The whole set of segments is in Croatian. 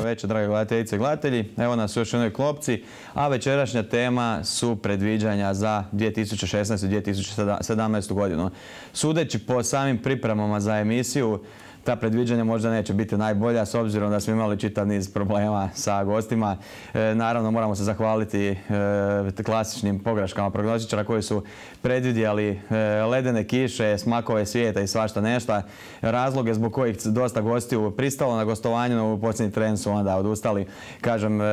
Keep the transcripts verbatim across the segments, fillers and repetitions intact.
večer, drage gledateljice i gledatelji. Evo nas u još jednoj klopci, a večerašnja tema su predviđanja za dvije tisuće šesnaestu. i dvije tisuće sedamnaestu. godinu. Sudeći po samim pripremama za emisiju, ta predviđanja možda neće biti najbolja, s obzirom da smo imali čitav niz problema sa gostima. E, naravno, moramo se zahvaliti e, klasičnim pogreškama prognostičara koji su predvidjeli e, ledene kiše, smakove svijeta i svašta nešto. Razloge zbog kojih dosta gostiju pristalo na gostovanju, no u posljednji tren su onda odustali. Kažem, e,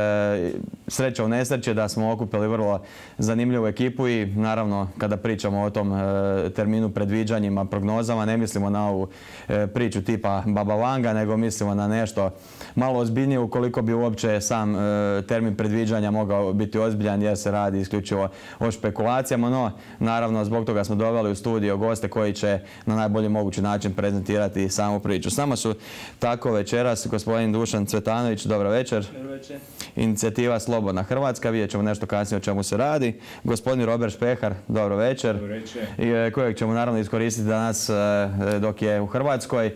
sreća u nesreće da smo okupili vrlo zanimljivu ekipu i naravno, kada pričamo o tom e, terminu predviđanjima, prognozama, ne mislimo na ovu e, priču tipa pa Baba Vanga, nego mislimo na nešto malo ozbiljnije ukoliko bi uopće sam e, termin predviđanja mogao biti ozbiljan jer se radi isključivo o špekulacijama, no naravno zbog toga smo doveli u studio goste koji će na najbolji mogući način prezentirati samu priču. S nama su tako večeras gospodin Dušan Cvetanović, dobro večer. Dobro večer. Inicijativa Slobodna Hrvatska, vidjet ćemo nešto kasnije o čemu se radi. Gospodin Robert Špehar, dobro večer. Dobro večer. I, kojeg ćemo naravno iskoristiti danas e, dok je u Hrvatskoj. E,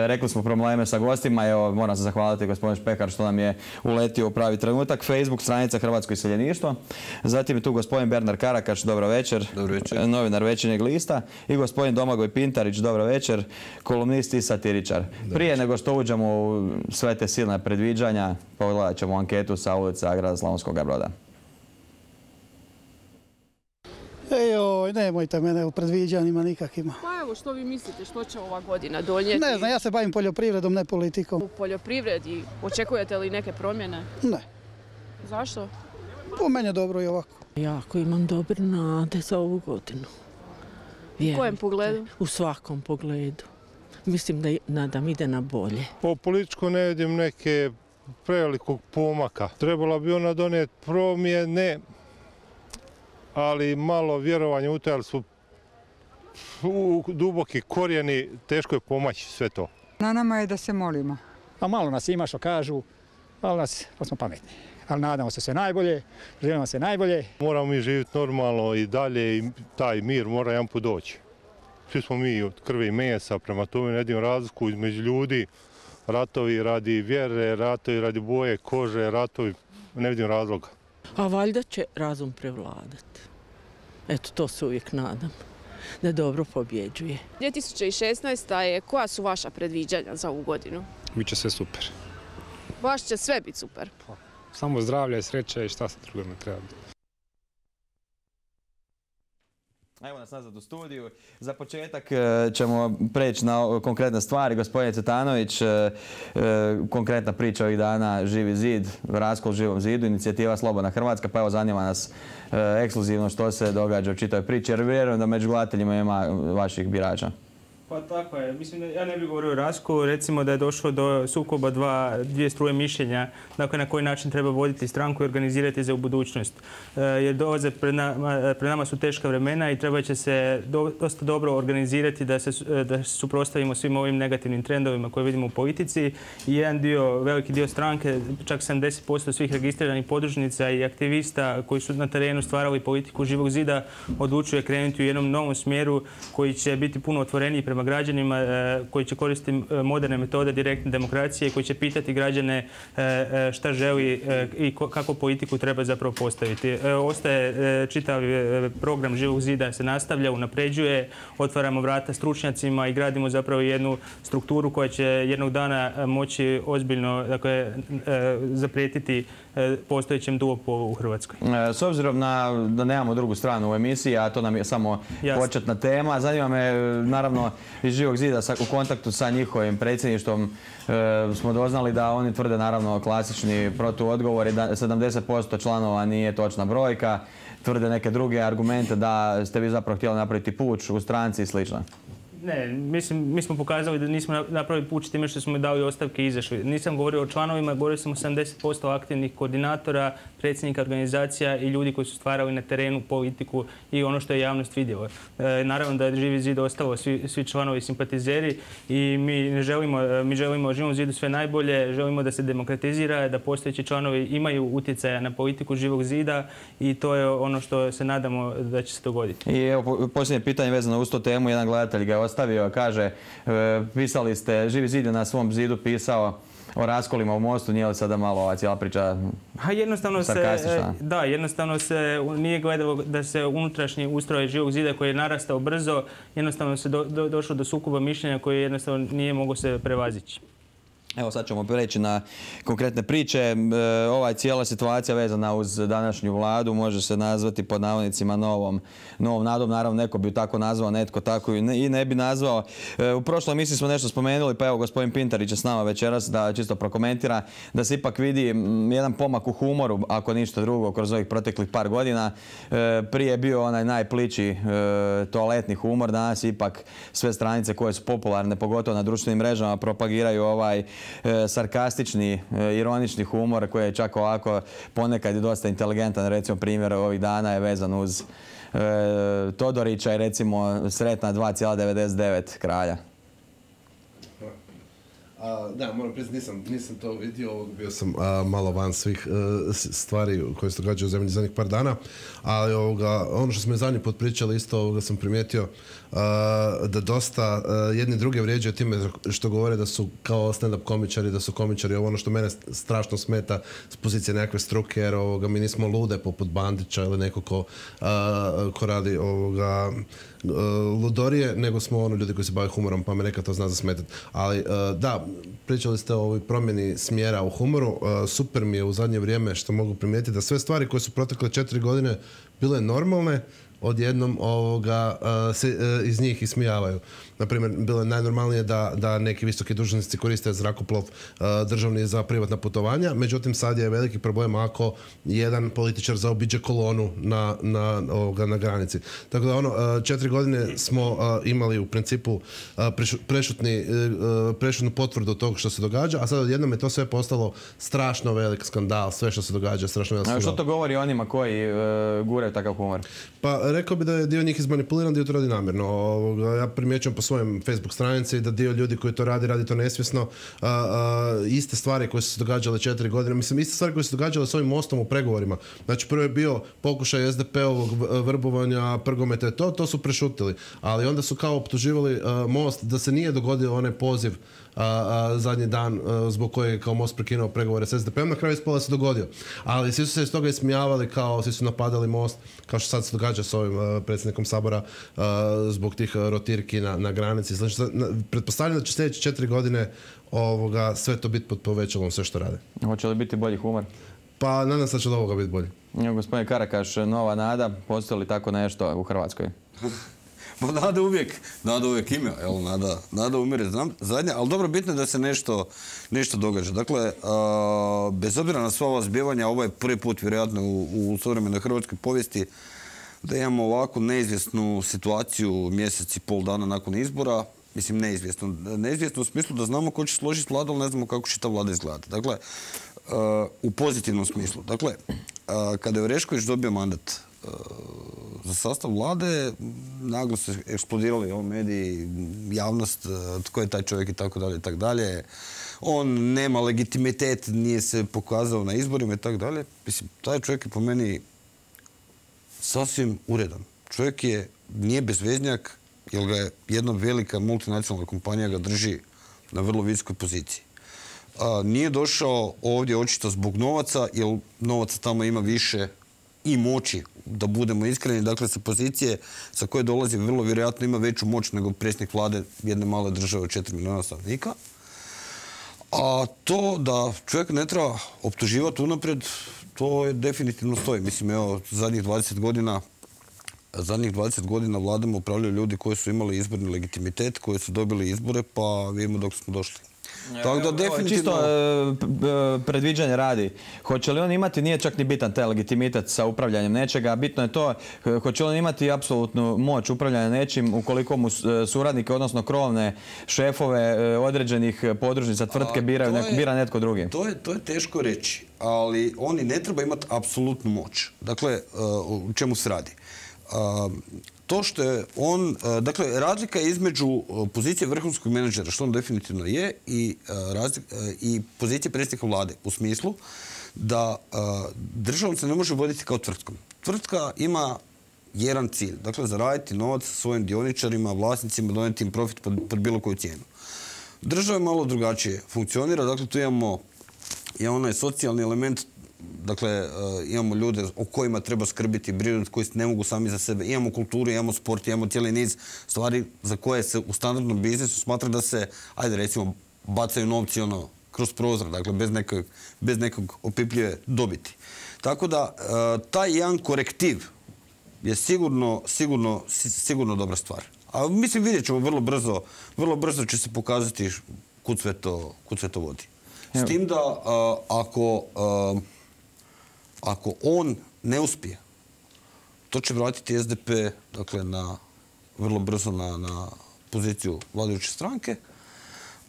rekli smo probleme sa gostima, evo moram se zahvaliti gospodin Špehar što nam je uletio u pravi trenutak. Facebook stranica Hrvatsko iseljeništvo. Zatim je tu gospodin Bernard Karakaš, dobro večer. Dobro večer. Novinar Večernjeg lista. I gospodin Domagoj Pintarić, dobro večer. Kolumnist i satiričar. Prije nego što uđemo u sve te silne predviđanja, pogledat ćemo anketu sa ulica grada Slavonskog Broda. Ejoj, nemojte mene u predviđanjima nikakvima. Pa evo, što vi mislite, što će ova godina donijeti? Ne znam, ja se bavim poljoprivredom, ne politikom. U poljoprivredi očekujete li neke promjene? Ne. Zašto? Po meni je dobro i ovako. Jako imam dobre nade za ovu godinu. U kojem pogledu? U svakom pogledu. Mislim da nadam ide na bolje. Po političku ne vidim neke prevelikog pomaka. Trebala bi ona donijeti promjene, ali malo vjerovanje u to, ali su u duboki korijeni, teško je pomaći sve to. Na nama je da se molimo. A malo nas ima što kažu, ali nas, pa smo pametni. Ali nadamo se sve najbolje, želimo se najbolje. Moramo mi živjeti normalno i dalje i taj mir mora jedan put doći. Svi smo mi od krvi i mesa, prema tome ne vidim razliku između ljudi. Ratovi radi vjere, ratovi radi boje, kože, ratovi, ne vidim razloga. A valjda će razum prevladati. Eto, to se uvijek nadam, da dobro pobjeđuje. dvije tisuće šesnaesta. je, koja su vaša predviđanja za ovu godinu? Biće sve super. Baš će sve biti super. Samo zdravlje, sreće i šta se drugo ne treba. Evo nas nazad u studiju. Za početak ćemo preći na konkretne stvari. Gospodin Cvetanović, konkretna priča ovih dana, Živi zid, raskol Živom zidu, inicijativa Slobodna Hrvatska, pa evo zanima nas ekskluzivno što se događa u čitavoj priči, jer vjerujem da među gledateljima ima vaših birača. Pa tako je. Mislim da ja ne bih govorio o raskolu, recimo da je došlo do sukoba dva, dvije struje mišljenja, dakle na koji način treba voditi stranku i organizirati za u budućnost. E, jer dolaze pred nama, pred nama su teška vremena i treba će se do, dosta dobro organizirati da se da suprotstavimo svim ovim negativnim trendovima koje vidimo u politici. I jedan dio, veliki dio stranke, čak sedamdeset posto svih registriranih podružnica i aktivista koji su na terenu stvarali politiku Živog zida odlučuje krenuti u jednom novom smjeru koji će biti puno otvoreniji prema građanima, koji će koristiti moderne metode direktne demokracije, koji će pitati građane šta želi i kako politiku treba zapravo postaviti. Ostaje čitav program Živog zida, se nastavlja, unapređuje, otvaramo vrata stručnjacima i gradimo zapravo jednu strukturu koja će jednog dana moći ozbiljno, dakle, zaprijetiti postojećem duopolu u Hrvatskoj. S obzirom na da nemamo drugu stranu u emisiji, a to nam je samo Jasne. početna tema, zanima me naravno iz Živog zida u kontaktu sa njihovim predsjedništvom e, smo doznali da oni tvrde naravno klasični protuodgovor i da sedamdeset posto članova nije točna brojka, tvrde neke druge argumente da ste vi zapravo htjeli napraviti puč u stranci i slično. Ne, mislim, mi smo pokazali da nismo napravili puč time što smo dali ostavke i izašli. Nisam govorio o članovima, govorio sam o sedamdeset posto aktivnih koordinatora, predsjednika organizacija i ljudi koji su stvarali na terenu politiku i ono što je javnost vidjela. E, naravno da je Živi zid ostalo svi, svi članovi simpatizeri i mi ne želimo, mi želimo Živom zidu sve najbolje, želimo da se demokratizira, da postojeći članovi imaju utjecaja na politiku Živog zida i to je ono što se nadamo da će se dogoditi. I evo, posljednje pitanje vezano uz tu temu, jedan gledatelj ga je ostavio, kaže, pisali ste, Živi zid je na svom zidu pisao o raskolima u Mostu, nije li sada malo ova cijela priča Ha, jednostavno se, sarkastična? da, jednostavno se nije gledalo da se unutrašnji ustroj Živog zida koji je narastao brzo, jednostavno se do, do, došlo do sukoba mišljenja koji jednostavno nije mogao se prevazići. Evo sad ćemo preći na konkretne priče. E, ova cijela situacija vezana uz današnju vladu može se nazvati pod navodnicima novom, novom nadom. Naravno neko bi ju tako nazvao, netko tako i ne, i ne bi nazvao. E, u prošloj emisiji smo nešto spomenuli, pa evo gospodin Pintarić je s nama večeras da čisto prokomentira da se ipak vidi m, jedan pomak u humoru, ako ništa drugo, kroz ovih proteklih par godina. E, prije je bio onaj najplići e, toaletni humor, danas ipak sve stranice koje su popularne, pogotovo na društvenim mrežama, propagiraju ovaj E, sarkastični, e, ironični humor koji je čak ovako ponekad i dosta inteligentan. Recimo primjer ovih dana je vezan uz e, Todorića i recimo sretna dva zarez devedeset devet kralja. A, da, moram priznati, nisam, nisam to vidio, bio sam a, malo van svih a, stvari koje se događaju u zemlji zadnjih par dana, ali ovoga, ono što smo je zadnji put pričali, isto ovoga sam primijetio a, da dosta a, jedni druge vrijeđaju time što govore da su kao stand-up komičari, da su komičari, ovo ono što mene strašno smeta s pozicije nekakve struke, jer ovoga, mi nismo lude poput Bandića ili neko ko, a, ko radi ovoga, ludorije, nego smo ono ljudi koji se bave humorom, pa me neka to zna zasmetati. Ali da, pričali ste o ovoj promjeni smjera u humoru. Super mi je u zadnje vrijeme što mogu primijetiti da sve stvari koje su protekle četiri godine bile normalne, odjednom ovoga se iz njih ismijavaju. Naprimjer, bilo je najnormalnije da, da neki visoki dužnosnici koriste zrakoplov državni za privatna putovanja, međutim sad je veliki problem ako jedan političar zaobiđe kolonu na, na, ovoga, na granici. Tako da ono, četiri godine smo imali u principu prešutni, prešutnu potvrdu tog što se događa, a sad odjednom je to sve postalo strašno velik skandal, sve što se događa, strašno velik skandal. A što to govori onima koji uh, guraju takav humor? Pa rekao bi da je dio njih izmanipuliran, dio to radi namjerno. Ovoga, ja primjećujem po svojem Facebook stranici da dio ljudi koji to radi, radi to nesvjesno. A, a, iste stvari koje su se događale četiri godine, mislim, iste stvari koje su se događale s ovim mostom u pregovorima. Znači, prvo je bio pokušaj es de pe-ovog vrbovanja, Prgometa, to, to su prešutili. Ali onda su kao optuživali a, most da se nije dogodio onaj poziv A, a, zadnji dan a, zbog koje je kao most prekinuo pregovore s es de pe-om, na kraju ispola se dogodio. Ali svi su se iz toga ismijavali, kao svi su napadali most, kao što sad se događa s ovim a, predsjednikom Sabora a, zbog tih a, rotirki na, na granici. Znači, na, pretpostavljam da će sljedeće četiri godine ovoga, sve to biti pod povećalom, sve što rade. Hoće li biti bolji humor? Pa nadam se da će od ovoga biti bolji. Gospodin Karakaš, nova nada, postoji li tako nešto u Hrvatskoj? Pa nada uvijek, nada uvijek ima, jel, nada, nada umire zadnja, ali dobro, bitno je da se nešto, nešto događa. Dakle, a, bez obzira na sva ova zbivanja, ovo je prvi put vjerojatno u, u suvremenoj hrvatskoj povijesti da imamo ovako neizvjesnu situaciju mjesec i pol dana nakon izbora. Mislim, neizvjesno. Neizvjesno u smislu da znamo ko će složiti vladu, ali ne znamo kako će ta vlada izgledati. Dakle, a, u pozitivnom smislu. Dakle, a, kada je Orešković dobio mandat za sastav vlade, naglo se eksplodirali ovi mediji, javnost, tko je taj čovjek i tako dalje i tako dalje. On nema legitimitet, nije se pokazao na izborima i tako dalje. Mislim, taj čovjek je po meni sasvim uredan. Čovjek je, nije bezveznjak, jer ga je jedna velika multinacionalna kompanija ga drži na vrlo visokoj poziciji. A, nije došao ovdje očito zbog novaca, jer novaca tamo ima više i moći, da budemo iskreni, dakle sa pozicije sa koje dolazi vrlo vjerojatno ima veću moć nego predsjednik vlade jedne male države od četiri milijuna stanovnika. A to da čovjek ne treba optuživati unaprijed, to je definitivno stoji. Mislim, evo, zadnjih dvadeset godina zadnjih dvadeset godina vladama upravljaju ljudi koji su imali izborni legitimitet, koji su dobili izbore, pa vidimo dok smo došli. Tako da definitivno... Čisto predviđanje radi. Hoće li on imati, nije čak ni bitan taj legitimitet sa upravljanjem nečega, bitno je to, hoće li on imati apsolutnu moć upravljanja nečim ukoliko mu suradnike, odnosno krovne šefove određenih podružnica tvrtke biraju, bira netko drugi? To je, to je teško reći, ali oni ne treba imati apsolutnu moć. Dakle, u čemu se radi? To što je on, dakle, razlika je između pozicije vrhunskog menadžera, što on definitivno je, i, i pozicije predsjednika vlade, u smislu da državom se ne može voditi kao tvrtkom. Tvrtka ima jedan cilj. Dakle, zaraditi novac svojim dioničarima, vlasnicima, donijeti im profit pod, pod bilo koju cijenu. Država malo drugačije funkcionira, dakle tu imamo je onaj socijalni element, dakle uh, imamo ljude o kojima treba skrbiti, brinuti, koji ne mogu sami za sebe. Imamo kulturu, imamo sport, imamo cijeli niz stvari za koje se u standardnom biznisu smatra da se, ajde recimo, bacaju novci ono kroz prozor, dakle bez nekog, bez nekog opipljive dobiti. Tako da uh, taj jedan korektiv je sigurno, sigurno, sigurno dobra stvar. A mislim vidjet ćemo vrlo brzo, vrlo brzo će se pokazati kud sve to, kud sve to vodi. S tim da uh, ako, uh, ako on ne uspije, to će vratiti S D P dakle, na, vrlo brzo na, na poziciju vladajuće stranke.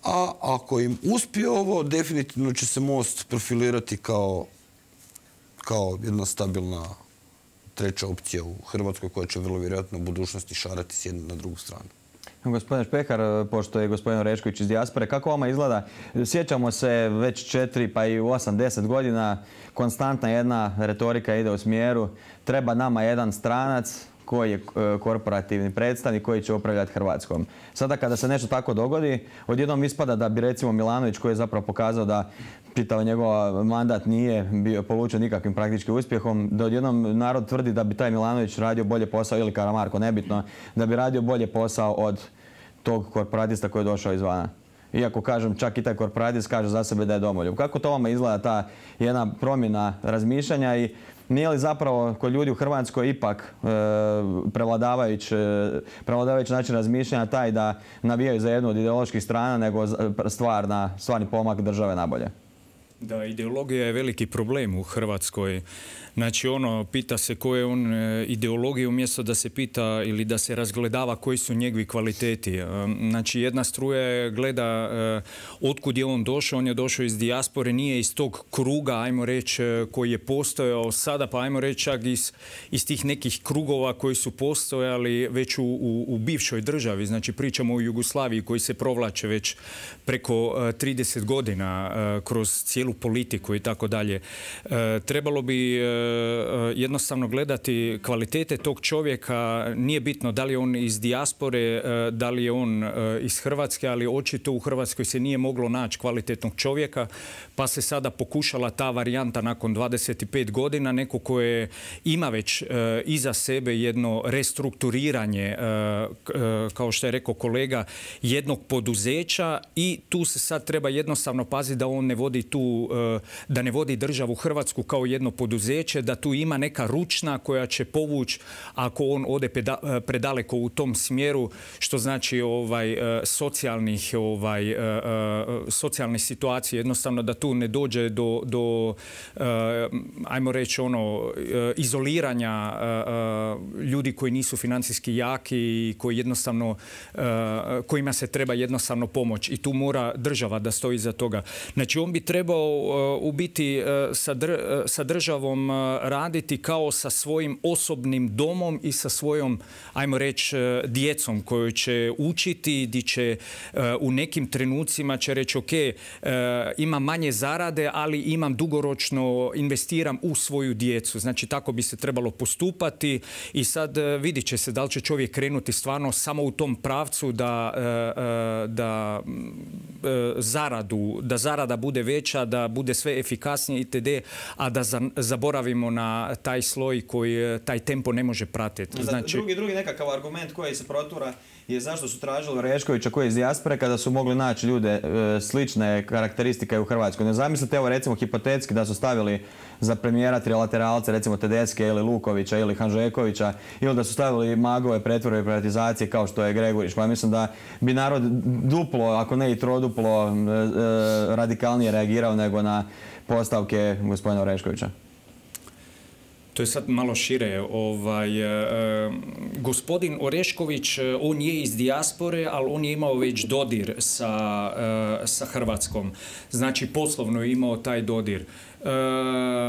A ako im uspije ovo, definitivno će se Most profilirati kao, kao jedna stabilna treća opcija u Hrvatskoj koja će vrlo vjerojatno u budućnosti šarati s jedne na drugu stranu. Gospodin Špehar, pošto je gospodin Orešković iz dijaspore, kako vama izgleda? Sjećamo se već četiri pa i osam, deset godina, konstantna jedna retorika ide u smjeru treba nama jedan stranac koji je korporativni predstavnik koji će upravljati Hrvatskom. Sada kada se nešto tako dogodi, odjednom ispada da bi recimo Milanović koji je zapravo pokazao da čitav njegov mandat nije bio polučio nikakvim praktički uspjehom, da odjednom narod tvrdi da bi taj Milanović radio bolje posao ili Karamarko, nebitno, da bi radio bolje posao od tog korporatista koji je došao izvana. Iako kažem, čak i taj korporatist kaže za sebe da je domoljub. Kako to vama izgleda ta jedna promjena razmišljanja i nije li zapravo kod ljudi u Hrvatskoj ipak e, prevladavajući prevladavajući način razmišljanja taj da navijaju za jednu od ideoloških strana nego stvarna, stvarni pomak države nabolje? Da, ideologija je veliki problem u Hrvatskoj. Znači, ono, pita se koje je on ideologije umjesto da se pita ili da se razgledava koji su njegovi kvaliteti. Znači, jedna struja gleda otkud je on došao. On je došao iz dijaspore, nije iz tog kruga, ajmo reći, koji je postojao sada, pa ajmo reći čak iz, iz tih nekih krugova koji su postojali već u, u, u bivšoj državi. Znači, pričamo o Jugoslaviji koji se provlače već preko trideset godina kroz cijelu politiku i tako dalje. Trebalo bi jednostavno gledati kvalitete tog čovjeka. Nije bitno da li je on iz dijaspore, da li je on iz Hrvatske, ali očito u Hrvatskoj se nije moglo naći kvalitetnog čovjeka, pa se sada pokušala ta varijanta nakon dvadeset pet godina, neko koje ima već iza sebe jedno restrukturiranje, kao što je rekao kolega, jednog poduzeća i tu se sad treba jednostavno paziti da on ne vodi tu, da ne vodi državu Hrvatsku kao jedno poduzeće, da tu ima neka ručna koja će povući ako on ode predaleko u tom smjeru, što znači ovaj, socijalnih, ovaj, socijalne situacije, jednostavno da tu ne dođe do, do ajmo reći, ono, izoliranja ljudi koji nisu financijski jaki i koji jednostavno, kojima se treba jednostavno pomoć i tu mora država da stoji iza toga. Znači, on bi trebao u biti sa, dr, sa državom raditi kao sa svojim osobnim domom i sa svojom, ajmo reći, djecom koju će učiti, gdje će u nekim trenucima će reći ok, imam manje zarade, ali imam dugoročno, investiram u svoju djecu. Znači, tako bi se trebalo postupati i sad vidit će se da li će čovjek krenuti stvarno samo u tom pravcu da, da, zaradu, da zarada bude veća, da bude sve efikasnije itd., a da zaboravimo na taj sloj koji taj tempo ne može pratiti. Znači, drugi, drugi nekakav argument koji se protura je zašto su tražili Oreškovića koji je iz dijaspore kada su mogli naći ljude e, slične karakteristike u Hrvatskoj. Ne zamislite, evo recimo hipotetski da su stavili za premijera trilateralce, recimo Tedeske ili Lukovića ili Hanžekovića, ili da su stavili magove pretvorbe i privatizacije kao što je Gregurić. Pa mislim da bi narod duplo, ako ne i troduplo, e, e, radikalnije reagirao nego na postavke gospodina Oreškovića. To je sad malo šire. Ovaj, e, gospodin Orešković, on je iz dijaspore, ali on je imao već dodir sa, e, sa Hrvatskom. Znači, poslovno je imao taj dodir. E,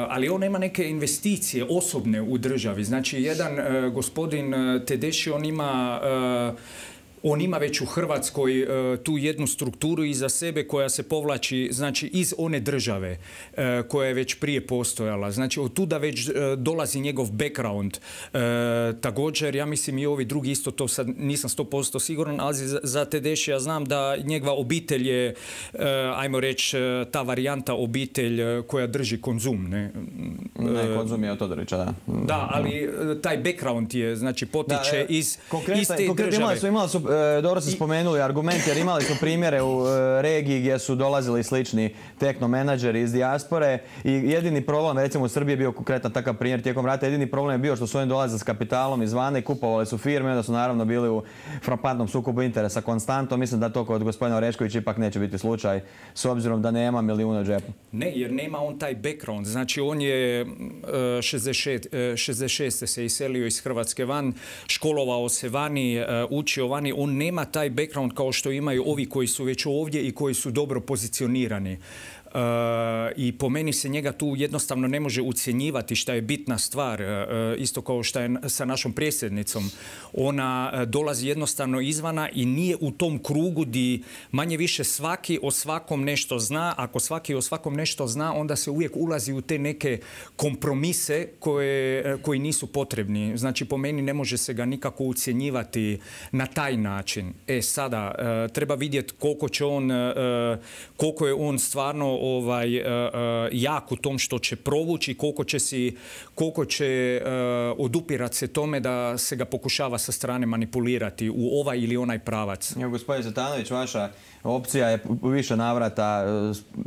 ali on nema neke investicije osobne u državi. Znači, jedan e, gospodin Tedeši, on ima... E, On ima već u Hrvatskoj e, tu jednu strukturu iza sebe koja se povlači, znači, iz one države e, koja je već prije postojala. Znači, od tuda već e, dolazi njegov background. E, također, ja mislim i ovi drugi isto, to sad nisam sto posto siguran, ali za, za Tedeschija znam da njegova obitelj je, e, ajmo reći, ta varijanta obitelj koja drži Konzum. Ne, ne Konzum je od Todorića, da. Da, ali taj background je, znači, potiče da, iz, iz te države. Imali su, imali su, e, dobro ste spomenuli argument, jer imali su primjere u e, regiji gdje su dolazili slični tehnomenadžeri iz dijaspore i jedini problem, recimo u Srbiji je bio konkretan takav primjer tijekom rata, jedini problem je bio što su oni dolazili s kapitalom izvana i kupovali su firme, onda su naravno bili u frapantnom sukobu interesa konstantno. Mislim da to kod gospodina Oreškovića ipak neće biti slučaj, s obzirom da nema milijuna u džepu. Ne, jer nema on taj background. Znači, on je šezdeset šeste se iselio iz Hrvatske van, školovao se vani, učio vani. On nema taj background kao što imaju ovi koji su već ovdje i koji su dobro pozicionirani. Uh, i po meni se njega tu jednostavno ne može ucjenjivati šta je bitna stvar, uh, isto kao što je sa našom predsjednicom. Ona uh, dolazi jednostavno izvana i nije u tom krugu di manje više svaki o svakom nešto zna. Ako svaki o svakom nešto zna, onda se uvijek ulazi u te neke kompromise koje, uh, koji nisu potrebni. Znači, po meni ne može se ga nikako ucjenjivati na taj način. E, sada, uh, treba vidjeti koliko će on, uh, koliko je on stvarno ovaj, uh, uh, jak u tom što će provući, koliko će, si, koliko će uh, odupirati se tome da se ga pokušava sa strane manipulirati u ovaj ili onaj pravac. Evo, gospodin Cvetanović, vaša opcija je u više navrata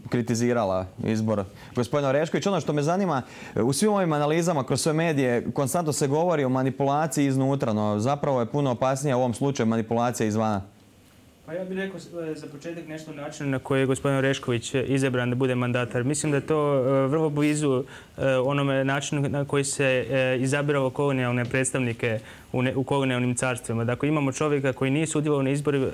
kritizirala izbor gospodina Oreškovića. Ono što me zanima, u svim ovim analizama kroz sve medije konstantno se govori o manipulaciji iznutra, no zapravo je puno opasnija u ovom slučaju manipulacija izvana. Pa ja bih rekao za početak nešto o načinu na koji je gospodin Orešković izabran da bude mandatar. Mislim da je to vrlo blizu onome načinu na koji se izabiralo kolonijalne predstavnike u kolonijalnim carstvima. Dakle, imamo čovjeka koji nije sudjelovao na izbori,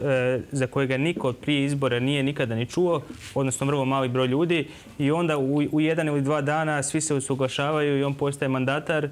za kojega niko prije izbora nije nikada ni čuo, odnosno vrlo mali broj ljudi, i onda u jedan ili dva dana svi se usuglašavaju i on postaje mandatar,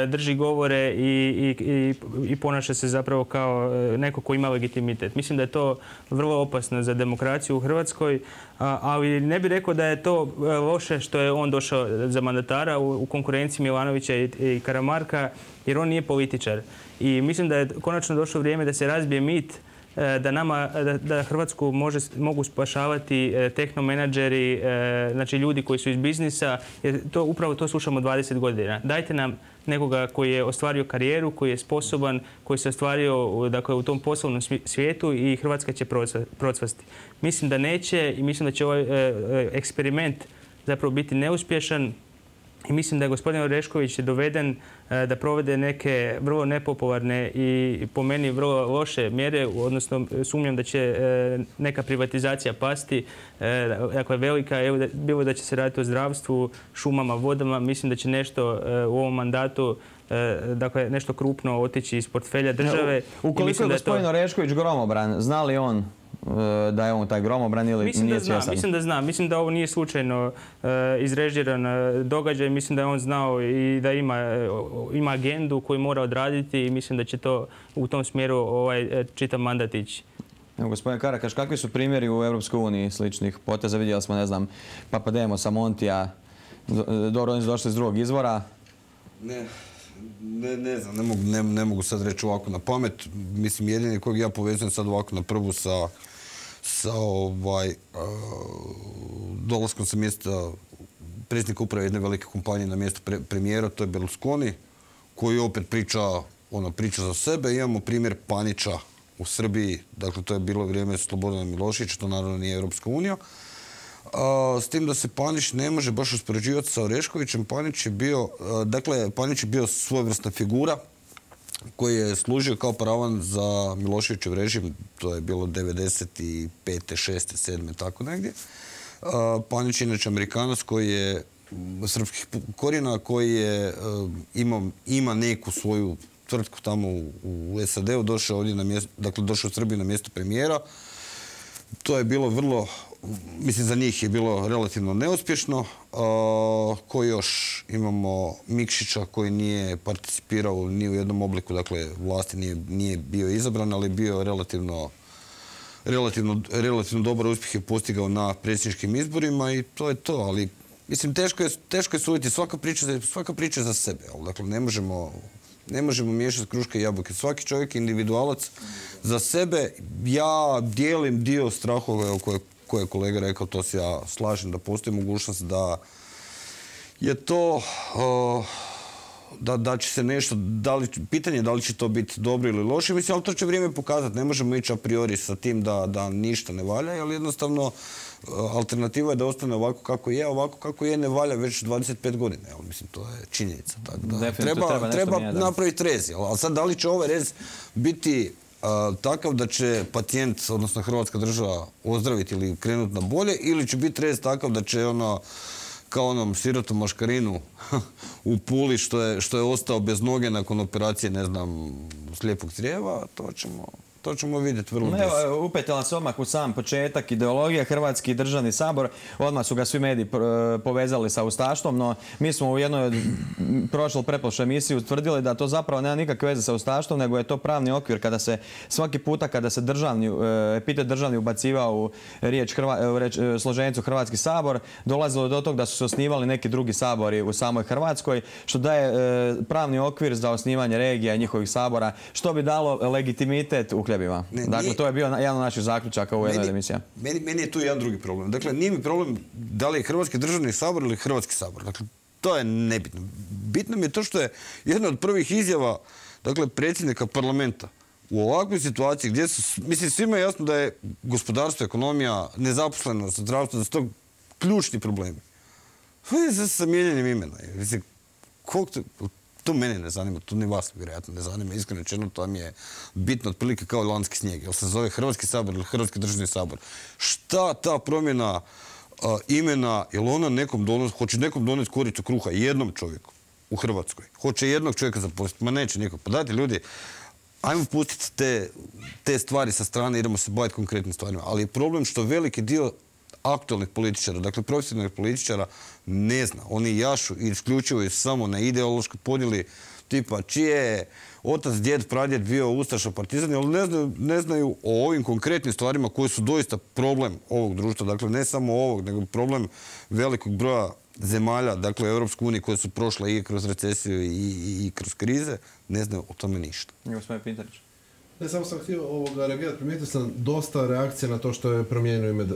drži govore i, i, i, i ponaša se zapravo kao neko ko ima legitimitet. Mislim da je to vrlo opasno za demokraciju u Hrvatskoj, ali ne bih rekao da je to loše što je on došao za mandatara u, u konkurenciji Milanovića i, i Karamarka, jer on nije političar. I mislim da je konačno došlo vrijeme da se razbije mit da nama, da, da Hrvatsku može, mogu spašavati tehnomenadžeri, znači ljudi koji su iz biznisa, jer to, upravo to slušamo dvadeset godina. Dajte nam nekoga koji je ostvario karijeru, koji je sposoban, koji se ostvario, dakle, u tom poslovnom svijetu i Hrvatska će procvasti. Mislim da neće i mislim da će ovaj eksperiment zapravo biti neuspješan. I mislim da je gospodin Orešković doveden da provede neke vrlo nepopularne i po meni vrlo loše mjere, odnosno sumnjam da će neka privatizacija pasti. Dakle, velika, evo, bilo da će se raditi o zdravstvu, šumama, vodama, mislim da će nešto u ovom mandatu, dakle, nešto krupno otići iz portfelja države. Ukoliko je gospodin Orešković gromobran, zna li on da je on taj gromobran ili mislim nije da zna, svjestan? Mislim da zna. Mislim da ovo nije slučajno uh, izrežiran uh, događaj. Mislim da je on znao i da ima, uh, ima agendu koju mora odraditi i mislim da će to u tom smjeru ovaj, čitav mandat ići. Evo, gospodin Karakaš, kakvi su primjeri u Europskoj uniji sličnih poteza? Vidjeli smo, ne znam, Papademosa, Montija, dobro, oni su došli iz drugog izvora. Ne. Ne, ne znam, ne mogu, ne, ne mogu sad reći ovako na pamet. Mislim, jedini kojeg ja povezujem sad ovako na prvu sa, sa ovaj, uh, dolaskom sa mjesta predsjednika uprave jedne velike kompanije na mjesto pre, premijera, to je Berlusconi, koji opet priča, ono, priča za sebe. Imamo primjer Panića u Srbiji, dakle to je bilo vrijeme Slobodana Miloševića, to naravno nije Europska unija. Uh, s tim da se Panić ne može baš uspoređivati sa Oreškovićem. Panić je bio, uh, dakle, Panić je bio svojevrsna figura koji je služio kao paravan za Miloševićev režim. To je bilo devedeset pete, šeste, sedme, tako negdje. Uh, Panić je inače Amerikanac koji je srpskih korijena, koji je uh, ima, ima neku svoju tvrtku tamo u, u S A D-u, došao ovdje na mjesto, dakle došao u Srbiju na mjesto premijera. to je bilo vrlo, mislim za njih je bilo relativno neuspješno. Ko još? Imamo Mikšića koji nije participirao ni u jednom obliku, dakle vlasti nije, nije bio izabran, ali bio relativno, relativno, relativno dobar uspjeh je postigao na predsjedničkim izborima i to je to, ali mislim teško je, teško je suditi, svaka priča, svaka priča za sebe, ali dakle ne možemo Ne možemo miješati kruške i jabuke. Svaki čovjek je individualac za sebe. Ja dijelim dio strahove koje, koje je kolega rekao, to se ja slažem, da postoji mogućnost da je to, uh, da, da će se nešto, da li, pitanje je da li će to biti dobro ili loše, mislim, ali to će vrijeme pokazati. Ne možemo ići a priori sa tim da, da ništa ne valja, ali jednostavno alternativa je da ostane ovako kako je, ovako kako je ne valja već dvadeset pet godina. Ali, mislim, to je činjenica. Tako da treba, treba, treba napraviti rez. Ali sad, da li će ovaj rez biti uh, takav da će pacijent, odnosno Hrvatska država, ozdraviti ili krenuti na bolje, ili će biti rez takav da će ono, kao onom sirotom maškarinu u Puli što je, što je ostao bez noge nakon operacije, ne znam, slijepog crijeva, to ćemo... To ćemo vidjeti vrlo brzo. Upetila se odmah u sam početak ideologija, Hrvatski državni sabor, odmah su ga svi mediji povezali sa ustaštvom, no mi smo u jednoj prošloj pretprošloj emisiji utvrdili da to zapravo nema nikakve veze sa ustaštvom, nego je to pravni okvir kada se svaki puta kada se državni, epitet državni ubacivao u riječ, u riječ složenicu Hrvatski sabor, dolazilo do tog da su se osnivali neki drugi sabori u samoj Hrvatskoj, što daje pravni okvir za osnivanje regija i njihovih sabora, što bi dalo legitimitet u uhljebima. Dakle, nije, to je bio jedan od naših zaključaka u jednoj emisiji. Meni, meni je tu jedan drugi problem. Dakle, nije mi problem da li je Hrvatski državni sabor ili Hrvatski sabor. Dakle, to je nebitno. Bitno mi je to što je jedna od prvih izjava, dakle, predsjednika parlamenta u ovakvoj situaciji gdje su, mislim, svima je jasno da je gospodarstvo, ekonomija, nezaposlenost, zdravstvo, da su to ključni problemi. Sa mijenjanjem imena. Mislim, koliko to... To mene ne zanima, to ni vas vjerojatno ne zanima. Iskreno rečeno, to mi je bitno otprilike kao lanski snijeg. Jel se zove Hrvatski sabor ili Hrvatski državni sabor? Šta ta promjena uh, imena, jel ona nekom donosi, hoće nekom doneti koricu kruha jednom čovjeku u Hrvatskoj? Hoće jednog čovjeka zaposliti? Ma neće nikog. Pa dajte ljudi, ajmo pustiti te, te stvari sa strane, idemo se baviti konkretnim stvarima. Ali je problem što veliki dio aktualnih političara, dakle profesionalnih političara, ne zna. Oni jašu i isključuju samo na ideološkoj podjeli tipa čije je otac, djed, pradjed bio ustaša, partizan, ali ne znaju, ne znaju o ovim konkretnim stvarima koji su doista problem ovog društva. Dakle, ne samo ovog, nego problem velikog broja zemalja, dakle u Europskoj uniji koje su prošle i kroz recesiju i, i, i kroz krize, ne znaju o tome ništa. Gospodin Pintarić. Ne, samo sam htio ovoga reagirati. Primijetio sam dosta reakcija na to što je promijenio ime uh,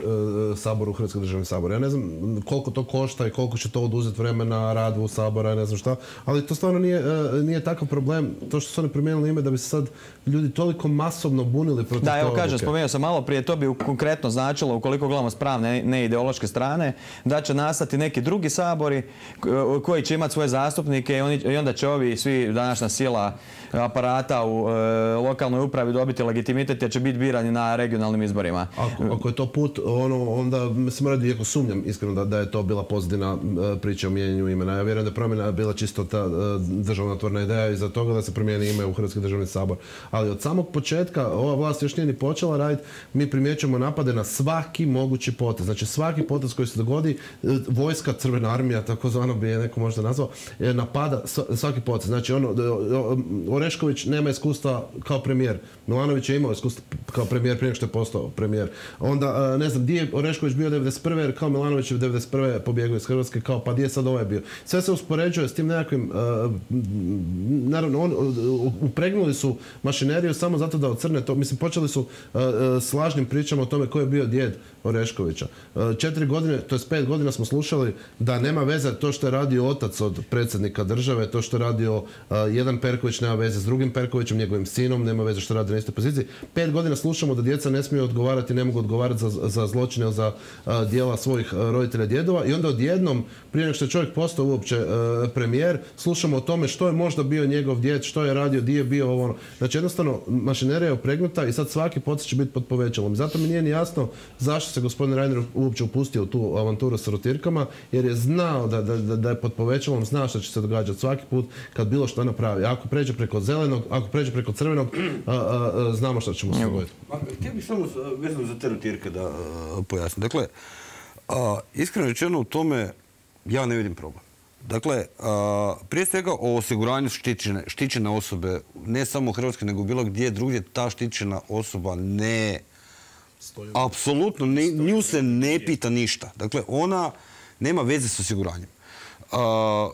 Saboru u Hrvatski državni sabor. Ja ne znam koliko to košta i koliko će to oduzeti vremena radu u Sabora, ne znam šta, ali to stvarno nije, uh, nije takav problem. To što su oni promijenili ime da bi se sad ljudi toliko masovno bunili protiv da, te evo odluke. kažem, spomenuo sam malo prije, to bi konkretno značilo, ukoliko gledamo s pravne, ne ideološke strane, da će nastati neki drugi sabori koji će imati svoje zastupnike i, oni, i onda će ovi svi današnja sila aparata u uh, lokalnoj upravi dobiti legitimitet jer će biti birani na regionalnim izborima. Ako, ako je to put, ono, onda se mora iako sumnjam iskreno da, da je to bila pozitivna uh, priča o mijenjanju imena. Ja vjerujem da je promjena bila čisto ta uh, državotvorna ideja iza toga da se promijeni ime u Hrvatski državni sabor. Ali od samog početka ova vlast još nije ni počela raditi, mi primjećujemo napade na svaki mogući potez. Znači svaki potez koji se dogodi, uh, vojska, crvena armija, takozvano bi je neko možda nazvao, napada svaki potez. Znači ono, Orešković nema iskustva kao premijer. Milanović je imao iskustvo kao premijer prije nego što je postao premijer. Onda, ne znam, gdje je Orešković bio devedeset prve jer kao Milanović je devedeset prve pobjegao iz Hrvatske, kao pa gdje je sad ovaj bio. Sve se uspoređuje s tim nekakvim, uh, naravno, on, uh, upregnuli su mašineriju samo zato da ocrne to. Mislim, počeli su uh, s lažnim pričama o tome ko je bio djed Oreškovića. Uh, četiri godine, to je pet godina smo slušali da nema veze to što je radio otac od predsjednika države, to što je radio uh, jedan Perković nema veze s drugim Perkovićem, njegovim sinom, nema veze što radi na istoj poziciji. Pet godina slušamo da djeca ne smiju odgovarati, ne mogu odgovarati za, za zločine ili za uh, djela svojih uh, roditelja, djedova i onda odjednom, prije nego što je čovjek postao uopće uh, premijer, slušamo o tome što je možda bio njegov djed, što je radio, di je bio ovo. Znači jednostavno mašinerija je opregnuta i sad svaki potez će biti pod povećalom. Zato mi nije ni jasno zašto se gospodin Reiner uopće upustio u tu avanturu sa rotirkama, jer je znao da, da, da je pod povećalom, zna što će se događati svaki put kad bilo što napravi. Ako pređe preko zelenog, ako pređe preko crvenog, a, a, a, znamo što ćemo se dogoditi. Htio bih samo vezano za te rotirke da a, pojasnim. Dakle, a, iskreno rečeno u tome ja ne vidim problem. Dakle, a, prije svega o osiguranju štićene, štićene osobe, ne samo u Hrvatskoj, nego bilo gdje drugdje, ta štićena osoba ne... Apsolutno, nju se ne pita ništa. Dakle, ona nema veze s osiguranjem. A,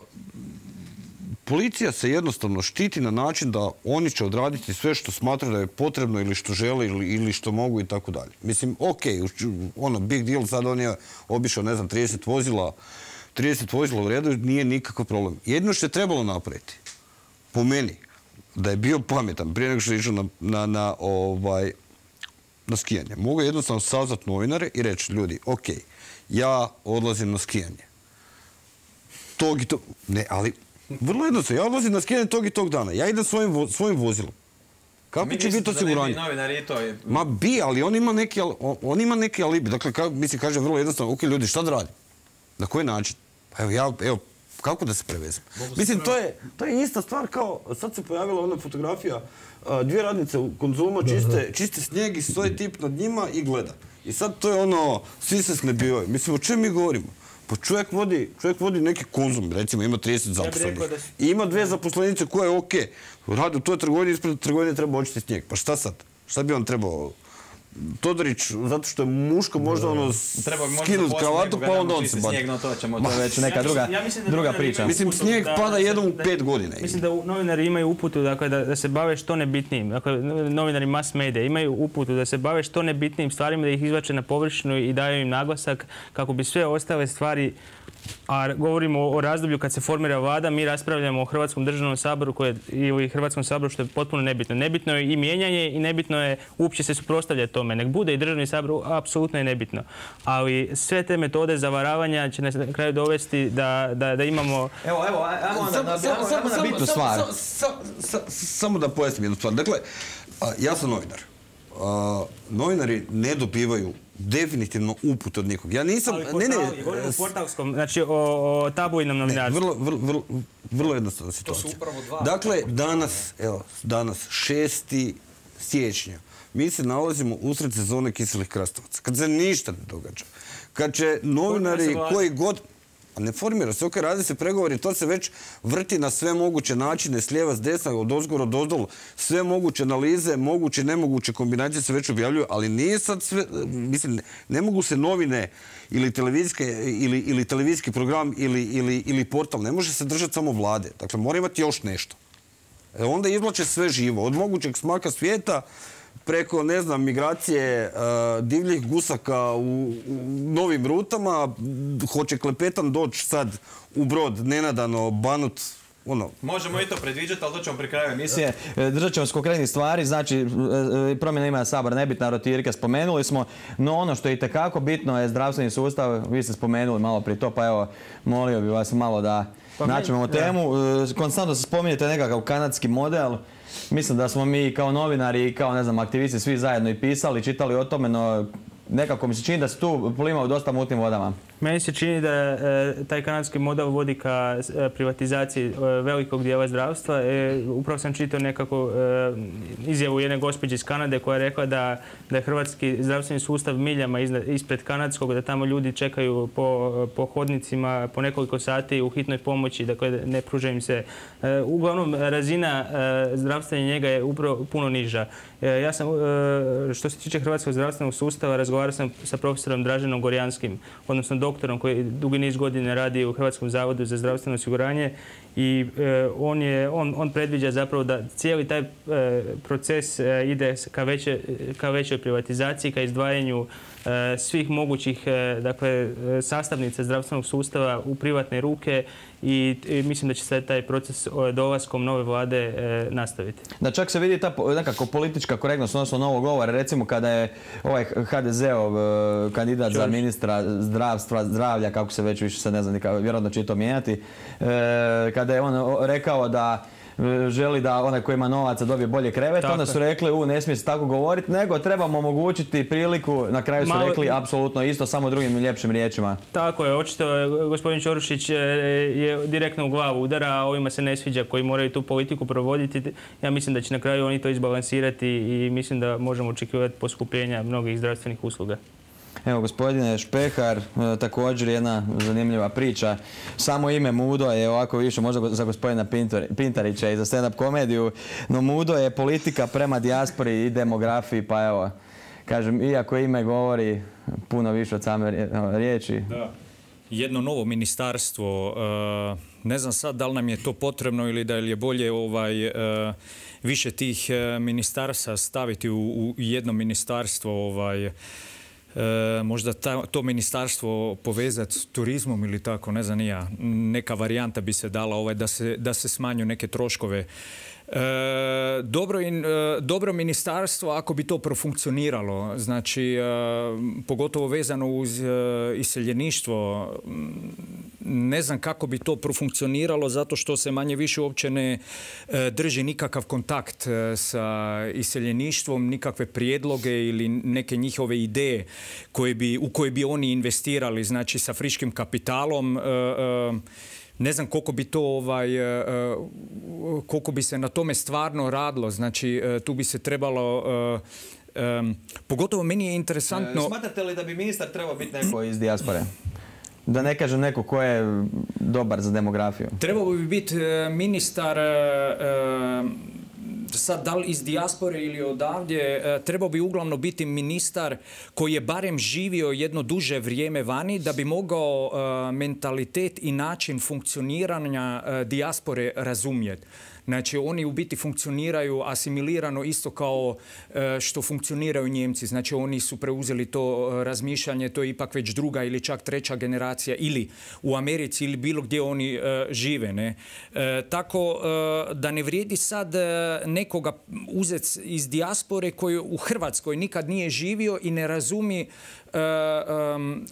policija se jednostavno štiti na način da oni će odraditi sve što smatraju da je potrebno ili što žele ili, ili što mogu i tako dalje. Mislim, ok, ono, big deal, sad on je obišao, ne znam, trideset vozila, trideset vozila u redu, nije nikakav problem. Jedino što je trebalo napraviti, po meni, da je bio pametan prije nego što je išao na, na, na, ovaj, na skijanje. Mogu jednostavno sazvati novinare i reći, ljudi, ok, ja odlazim na skijanje. Tog i tog... Ne, ali vrlo jednostavno, ja odlazim na skijanje tog i tog dana. Ja idem svojim, vo, svojim vozilom. Kako će biti osiguranje? Ma bi, ali on ima neki, on ima neki alibi. Dakle, ka, mislim, kaže vrlo jednostavno, ok, ljudi, šta da radim? Na koji način? Pa evo, ja, evo, kako da se prevezem? Mislim, to je, to je ista stvar kao, sad se pojavila ona fotografija, dvije radnice u Konzuma čiste, čiste snijeg i stoji tip nad njima i gleda. I sad to je ono, svi se snebivaju. Mislim, o čem mi govorimo? Pa čovjek vodi, čovjek vodi neki Konzum, recimo ima trideset zaposlenih. I ima dve zaposlenice koje je okej. Radi u toj trgovini, ispred trgovine treba očistiti snijeg. Pa šta sad? Šta bi on trebao? Todorić, zato što je muško, možda ono skinuti kravatu, pa onda on se bati. Snijeg, no to ćemo, to je već neka druga, ja mislim, druga priča. Mislim, snijeg pada jednom u pet godina. Mislim da novinari imaju uputu dakle, da, da se bave što nebitnijim. Dakle, novinari mass medija imaju uputu da se bave što nebitnijim stvarima, da ih izvače na površinu i daju im naglasak kako bi sve ostale stvari, a govorimo o razdoblju kad se formira vlada, mi raspravljamo o Hrvatskom državnom saboru koje, ili Hrvatskom saboru što je potpuno nebitno. Nebitno je i mijenjanje i nebitno je uopće se suprotstavljati tome. Nek bude i državni sabor, apsolutno je nebitno. Ali sve te metode zavaravanja će nas na kraju dovesti da, da, da imamo... Evo, evo, ajmo na bitnu stvar. Samo da pojasnim jednu stvar. Dakle, ja sam novinar. Novinari ne dobivaju definitivno uput od nikog. Ja nisam... Ne, ne, govorim o portalskom, znači o, o tabloidnom novinarstvu. Vrlo, vrlo, vrlo, vrlo jednostavna situacija. Dakle, danas, evo, danas, šesti siječnja, mi se nalazimo usred sezone kiselih krastavaca. Kad se ništa ne događa. Kad će novinari koji god... Ne formira se, ok, radi se pregovori, to se već vrti na sve moguće načine, s lijeva, s desna, od ozgora, od ozdol, sve moguće analize, moguće i nemoguće kombinacije se već objavljuju, ali nije sad sve, mislim, ne mogu se novine ili televizijske, ili, ili televizijski program ili, ili, ili portal, ne može se držati samo vlade. Dakle, mora imati još nešto. E, onda izvlače sve živo, od mogućeg smaka svijeta, preko, ne znam, migracije uh, divljih gusaka u, u novim rutama, hoće Klepetan doći sad u Brod, nenadano, banut, ono... Možemo i to predviđati, ali to ćemo pri kraju emisije. Držat ćemo s konkretnih stvari, znači promjena imena Sabora, nebitna rotirka, spomenuli smo, no ono što je itekako bitno je zdravstveni sustav, vi ste spomenuli malo prije to, pa evo, molio bih vas malo da pa naćemo temu. Konstantno se spominjete nekakav kanadski model. Mislim da smo mi kao novinari i kao, ne znam, aktivisti svi zajedno i pisali, čitali o tome, no nekako mi se čini da se tu plima u dosta mutnim vodama. Meni se čini da e, taj kanadski model vodi ka e, privatizaciji e, velikog dijela zdravstva. E, upravo sam čitao nekako e, izjavu jedne gospođe iz Kanade koja je rekla da, da je hrvatski zdravstveni sustav miljama iznad, ispred kanadskog, da tamo ljudi čekaju po, po hodnicima po nekoliko sati u hitnoj pomoći, dakle ne pruža im se. E, uglavnom, razina e, zdravstvene njega je upravo puno niža. E, ja sam, e, što se tiče hrvatskog zdravstvenog sustava, razgovarao sam sa profesorom Draženom Gorjanskim, odnosno doktorom koji dugi niz godina radi u Hrvatskom zavodu za zdravstveno osiguranje i e, on, je, on, on predviđa zapravo da cijeli taj e, proces e, ide ka, veće, ka većoj privatizaciji, ka izdvajanju e, svih mogućih e, dakle, sastavnica zdravstvenog sustava u privatne ruke i, i mislim da će se taj proces dolaskom nove vlade e, nastaviti. Da čak se vidi ta nekako politička korektnost, odnosno novog govora, recimo kada je ovaj ha de ze-ov e, kandidat Čuš. za ministra zdravstva, zdravlja, kako se već više sad ne znam, vjerojatno će to mijenjati, e, kada je on rekao da želi da onaj koji ima novaca dobije bolje krevet, onda su rekli u ne smije se tako govoriti, nego trebamo omogućiti priliku, na kraju su rekli apsolutno isto, samo drugim ljepšim riječima. Tako je, očito gospodin Ćorušić je direktno u glavu udara, a ovima se ne sviđa koji moraju tu politiku provoditi. Ja mislim da će na kraju oni to izbalansirati i mislim da možemo očekivati poskupljenja mnogih zdravstvenih usluga. Evo, gospodine Špehar, također jedna zanimljiva priča. Samo ime Mudo je ovako više možda za gospodina Pintarića i za stand-up komediju, no Mudo je politika prema dijaspori i demografiji, pa evo, kažem, iako ime govori puno više od same riječi. Da. Jedno novo ministarstvo, ne znam sad da li nam je to potrebno ili da li je bolje ovaj, više tih ministarstva staviti u jedno ministarstvo, ovaj, E, možda ta, to ministarstvo povezati s turizmom ili tako, ne znam ni ja. Neka varijanta bi se dala ovaj, da se, da se smanju neke troškove. E, dobro, in, e, dobro ministarstvo ako bi to profunkcioniralo, znači e, pogotovo vezano uz e, iseljeništvo, ne znam kako bi to profunkcioniralo zato što se manje više uopće ne e, drži nikakav kontakt e, sa iseljeništvom, nikakve prijedloge ili neke njihove ideje koje bi, u koje bi oni investirali, znači sa friškim kapitalom. E, e, Ne znam koliko bi to ovaj, koliko bi se na tome stvarno radilo. Znači tu bi se trebalo, um, pogotovo meni je interesantno. Smatrate li da bi ministar trebao biti neko iz dijaspore? Da ne kažem neko ko je dobar za demografiju. Trebao bi biti ministar, sad da li iz dijaspore ili odavdje, trebao bi uglavnom biti ministar koji je barem živio jedno duže vrijeme vani da bi mogao mentalitet i način funkcioniranja dijaspore razumjeti. Znači, oni u biti funkcioniraju asimilirano isto kao što funkcioniraju Njemci. Znači, oni su preuzeli to razmišljanje, to je ipak već druga ili čak treća generacija ili u Americi ili bilo gdje oni žive. Ne? Tako da ne vrijedi sad nekoga uzeti iz dijaspore koji u Hrvatskoj nikad nije živio i ne razumije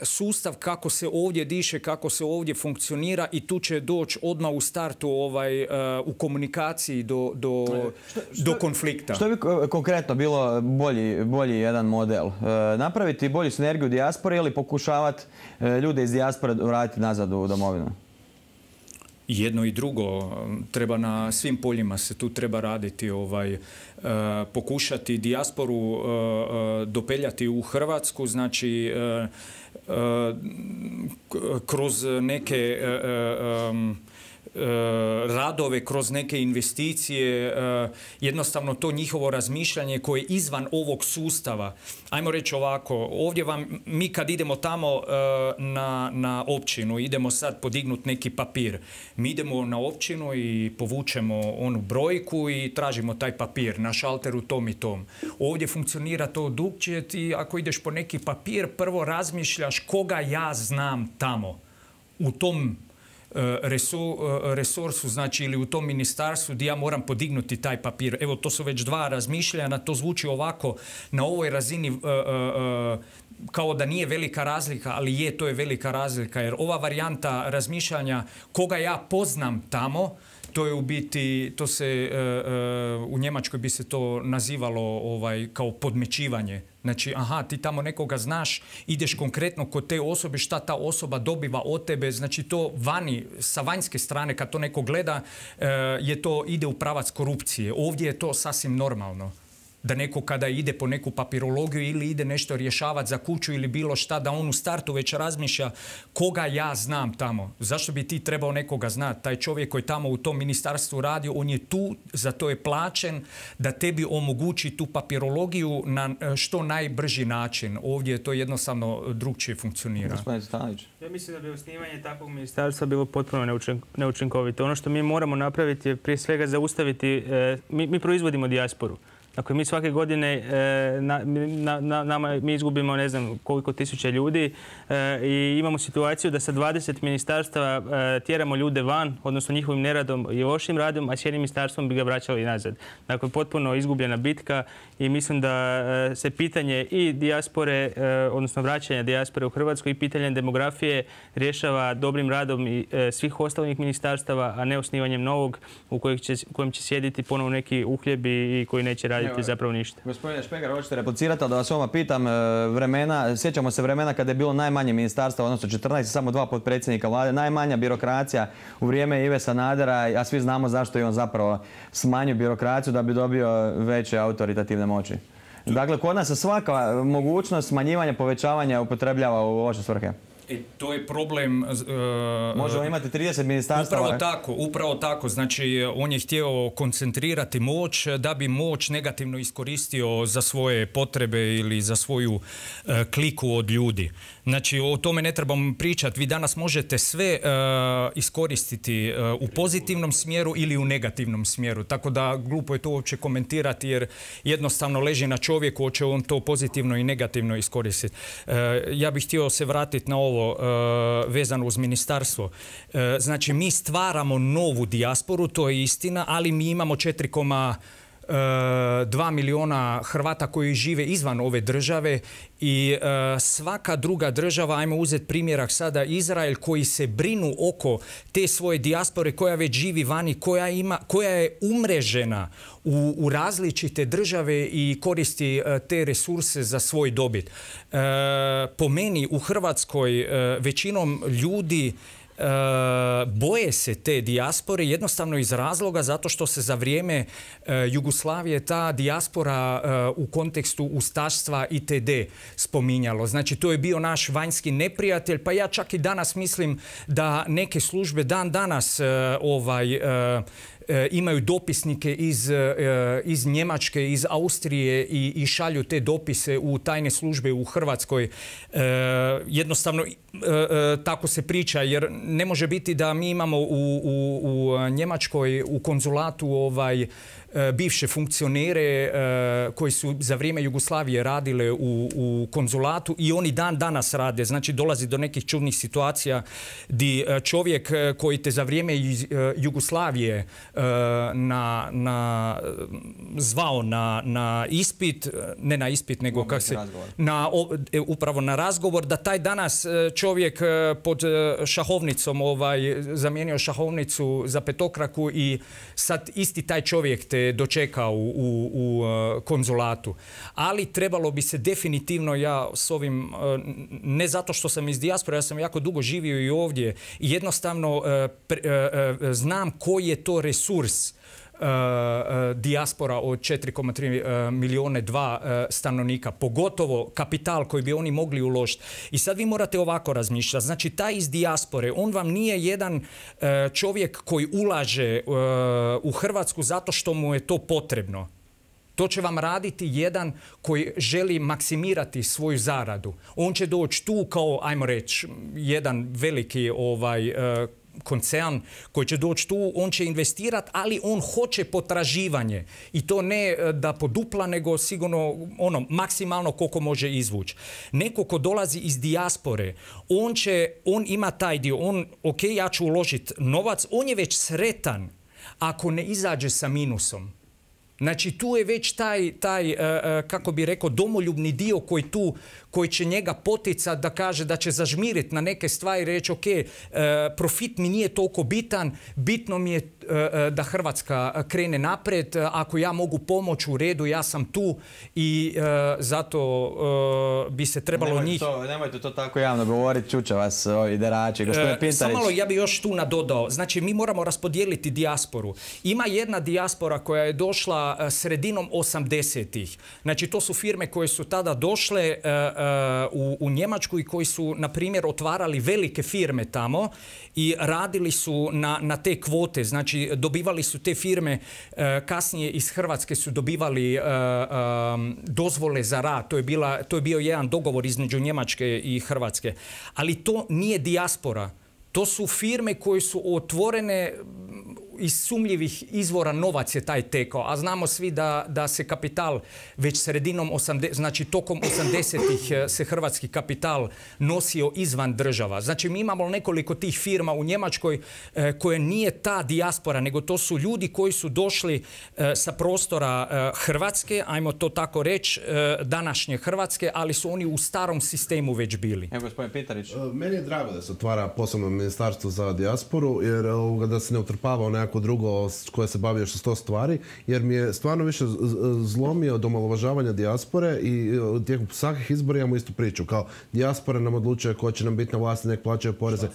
sustav kako se ovdje diše, kako se ovdje funkcionira i tu će doći odmah u startu ovaj, u komunikaciji do, do, što, što, do konflikta. Što bi konkretno bilo bolji, bolji jedan model? Napraviti bolju sinergiju dijaspore ili pokušavati ljude iz dijaspore vratiti nazad u domovinu? Jedno i drugo. Treba na svim poljima se tu treba raditi, ovaj, uh, pokušati dijasporu uh, uh, dopeljati u Hrvatsku, znači uh, uh, kroz neke uh, um, radove, kroz neke investicije, jednostavno to njihovo razmišljanje koje je izvan ovog sustava. Ajmo reći ovako, ovdje vam, mi kad idemo tamo na, na općinu, idemo sad podignuti neki papir. Mi idemo na općinu i povučemo onu brojku i tražimo taj papir na šalteru tom i tom. Ovdje funkcionira to drukčije, ti ako ideš po neki papir, prvo razmišljaš koga ja znam tamo, u tom resursu, znači ili u tom ministarstvu gdje ja moram podignuti taj papir. Evo, to su već dva razmišljanja, to zvuči ovako na ovoj razini uh, uh, kao da nije velika razlika, ali je, to je velika razlika, jer ova varijanta razmišljanja koga ja poznam tamo, to je u biti, to se, uh, uh, u Njemačkoj bi se to nazivalo ovaj, kao podmećivanje. Znači, aha, ti tamo nekoga znaš, ideš konkretno kod te osobe, šta ta osoba dobiva od tebe, znači to vani, sa vanjske strane, kad to neko gleda, uh, je to, ide u pravac korupcije. Ovdje je to sasvim normalno. Da neko kada ide po neku papirologiju ili ide nešto rješavati za kuću ili bilo šta, da on u startu već razmišlja koga ja znam tamo. Zašto bi ti trebao nekoga znati? Taj čovjek koji tamo u tom ministarstvu radi, on je tu, za to je plaćen, da tebi omogući tu papirologiju na što najbrži način. Ovdje to jednostavno drugčije funkcionira. Gospodin Stanović. Ja mislim da bi osnivanje takvog ministarstva bilo potpuno neučinkovito. Ono što mi moramo napraviti je prije svega zaustaviti, mi, mi proizvodimo dijasporu. Dakle, mi svake godine na, na, na, nama, mi izgubimo ne znam koliko tisuća ljudi i imamo situaciju da sa dvadeset ministarstava tjeramo ljude van, odnosno njihovim neradom i lošim radom, a s jednim ministarstvom bi ga vraćali nazad. Dakle, potpuno izgubljena bitka i mislim da se pitanje i dijaspore, odnosno vraćanja dijaspore u Hrvatsku i pitanje demografije rješava dobrim radom i svih ostalih ministarstava, a ne osnivanjem novog u kojem će, kojem će sjediti ponovo neki uhljebi i koji neće raditi zapravo ništa. Gospodine Špegar, hoćete replicirati, ali da vas ovdje pitam, vremena, sjećamo se vremena kada je bilo najmanje ministarstva, odnosno četrnaest, samo dva potpredsjednika vlade, najmanja birokracija u vrijeme Ive Sanadera, a svi znamo zašto je on zapravo smanjio birokraciju da bi dobio veće autoritativne moći. Dakle, kod nas se svaka mogućnost smanjivanja, povećavanja upotrebljava u loše svrhe. E, to je problem... Uh, Možemo imati trideset ministarstava. Upravo tako, upravo tako. Znači, on je htio koncentrirati moć da bi moć negativno iskoristio za svoje potrebe ili za svoju uh, kliku od ljudi. Znači, o tome ne trebamo pričati. Vi danas možete sve uh, iskoristiti uh, u pozitivnom smjeru ili u negativnom smjeru. Tako da glupo je to uopće komentirati jer jednostavno leži na čovjeku, hoće on to pozitivno i negativno iskoristiti. Uh, ja bih htio se vratiti na ovo uh, vezano uz ministarstvo. Uh, znači, mi stvaramo novu dijasporu, to je istina, ali mi imamo četiri zarez dva miliona Hrvata koji žive izvan ove države i uh, svaka druga država, ajmo uzeti primjerak sada Izrael, koji se brinu oko te svoje dijaspore koja već živi vani, koja, ima, koja je umrežena u, u različite države i koristi uh, te resurse za svoj dobit. Uh, po meni u Hrvatskoj uh, većinom ljudi Uh, boje se te dijaspore jednostavno iz razloga zato što se za vrijeme uh, Jugoslavije ta dijaspora uh, u kontekstu ustaštva itd. spominjalo. Znači, to je bio naš vanjski neprijatelj, pa ja čak i danas mislim da neke službe dan danas uh, ovaj, uh, imaju dopisnike iz, iz Njemačke, iz Austrije i, i šalju te dopise u tajne službe u Hrvatskoj. E, jednostavno e, tako se priča jer ne može biti da mi imamo u, u, u Njemačkoj u konzulatu ovaj bivše funkcionere koji su za vrijeme Jugoslavije radile u, u konzulatu i oni dan danas rade. Znači, dolazi do nekih čudnih situacija di čovjek koji te za vrijeme Jugoslavije na, na, zvao na, na ispit, ne na ispit, nego kak se, na, upravo na razgovor, da taj danas čovjek pod šahovnicom ovaj, zamijenio šahovnicu za petokraku i sad isti taj čovjek te dočekao u, u, u konzulatu. Ali trebalo bi se definitivno, ja s ovim, ne zato što sam iz dijaspore, ja sam jako dugo živio i ovdje i jednostavno pre, znam koji je to resurs Uh, uh, dijaspora od četiri zarez tri milijuna dva uh, stanovnika, pogotovo kapital koji bi oni mogli uložiti. I sad vi morate ovako razmišljati. Znači, taj iz dijaspore, on vam nije jedan uh, čovjek koji ulaže uh, u Hrvatsku zato što mu je to potrebno. To će vam raditi jedan koji želi maksimirati svoju zaradu. On će doći tu kao, ajmo reći, jedan veliki ovaj, uh, koncern koji će doći tu, on će investirati, ali on hoće potraživanje. I to ne da podupla, nego sigurno ono, maksimalno koliko može izvući. Neko ko dolazi iz dijaspore, on će, on ima taj dio, on, ok, ja ću uložiti novac, on je već sretan ako ne izađe sa minusom. Znači, tu je već taj, taj kako bi rekao, domoljubni dio koji tu, koji će njega poticati da kaže da će zažmiriti na neke stvari i reći, ok, profit mi nije toliko bitan, bitno mi je da Hrvatska krene naprijed, ako ja mogu pomoći u redu, ja sam tu i zato bi se trebalo nemojte njih... To, nemojte to tako javno govoriti, čuće vas ovi derači, gospodin Pintarić. Samo malo, ja bi još tu nadodao. Znači, mi moramo raspodijeliti dijasporu. Ima jedna dijaspora koja je došla sredinom osamdesetih. Znači, to su firme koje su tada došle uh, uh, u, u Njemačku i koji su, na primjer, otvarali velike firme tamo i radili su na, na te kvote. Znači, dobivali su te firme, uh, kasnije iz Hrvatske su dobivali uh, um, dozvole za rad. To je, bila, to je bio jedan dogovor između Njemačke i Hrvatske. Ali to nije dijaspora. To su firme koje su otvorene iz sumnjivih izvora novac je taj tekao, a znamo svi da, da se kapital već sredinom osamdesetih, znači tokom osamdesetih se hrvatski kapital nosio izvan država. Znači mi imamo nekoliko tih firma u Njemačkoj e, koje nije ta dijaspora, nego to su ljudi koji su došli e, sa prostora e, Hrvatske, ajmo to tako reći, e, današnje Hrvatske, ali su oni u starom sistemu već bili. Evo, gospodin Pitarić. Meni je drago da se otvara posebno ministarstvo za dijasporu, jer da se ne utrpava neko drugo koje se bavi još sto stvari, jer mi je stvarno više zlomio do omalovažavanja dijaspore i tijekom svakih izbora imamo istu priču. Kao dijaspora nam odlučuje ko će nam biti na vlasti, nek plaćaju poreze.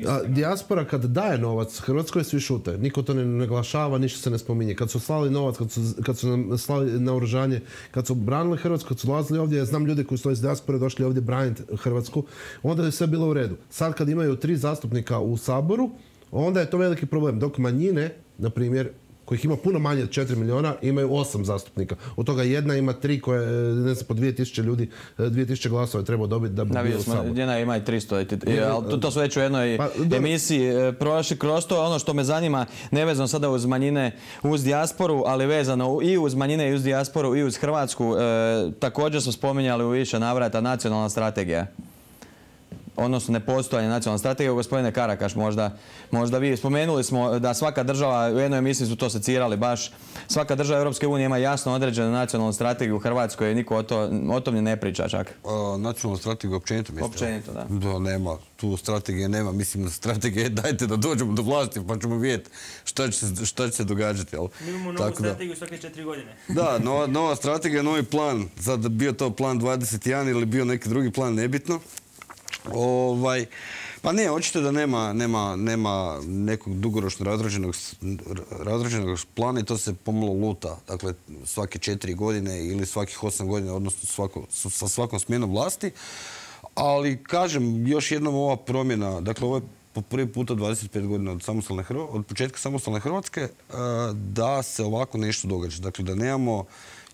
A dijaspora kad daje novac Hrvatskoj, svi šute. Niko to ne naglašava, ništa se ne spominje. Kad su slali novac, kad su, kad su nam slali naoružanje, kad su branili Hrvatsku, kad su dolazili ovdje, znam ljudi koji su iz dijaspore došli ovdje braniti Hrvatsku, onda je sve bilo u redu. Sad kad imaju tri zastupnika u Saboru, onda je to veliki problem. Dok manjine, na primjer, kojih ima puno manje od četiri milijuna, imaju osam zastupnika. Od toga jedna ima tri koje, ne znam, po dvije tisuće ljudi, dvije tisuće glasova je trebao dobiti da bi da, bio u Saboru. Jedna ima i tristo, ali to, to su već u jednoj pa, emisiji prošli kroz to. Ono što me zanima, nevezano sada uz manjine, uz dijasporu, ali vezano i uz manjine i uz dijasporu i uz Hrvatsku, e, također smo spominjali u više navrata nacionalna strategija. Odnosno nepostojanje nacionalne strategije. Gospodine Karakaš, možda, možda vi spomenuli smo da svaka država, u jednoj emisiji su to secirali baš, svaka država Europske unije ima jasno određenu nacionalnu strategiju. U Hrvatskoj niko o, to, o tom ne priča čak. A, nacionalnu strategiju općenito mislite? Općenito, da. Da, nema. Tu strategije nema. Mislim, strategije dajte da dođemo do vlasti pa ćemo vidjeti šta će, šta će se događati. Ali, mi imamo novu strategiju svake četiri godine. Da, nova, nova strategija, novi plan. Sad bio to plan dvadeset jedan ili bio neki drugi plan, nebitno. Ovaj, pa ne, očito da nema, nema, nema nekog dugoročno razrađenog, razrađenog plana i to se pomalo luta. Dakle, svake četiri godine ili svakih osam godina, odnosno svako, sa svakom smjenom vlasti. Ali, kažem, još jednom ova promjena, dakle, ovo je po prvi puta dvadeset pet godina od, samostalne, od početka samostalne Hrvatske, da se ovako nešto događa. Dakle, da nemamo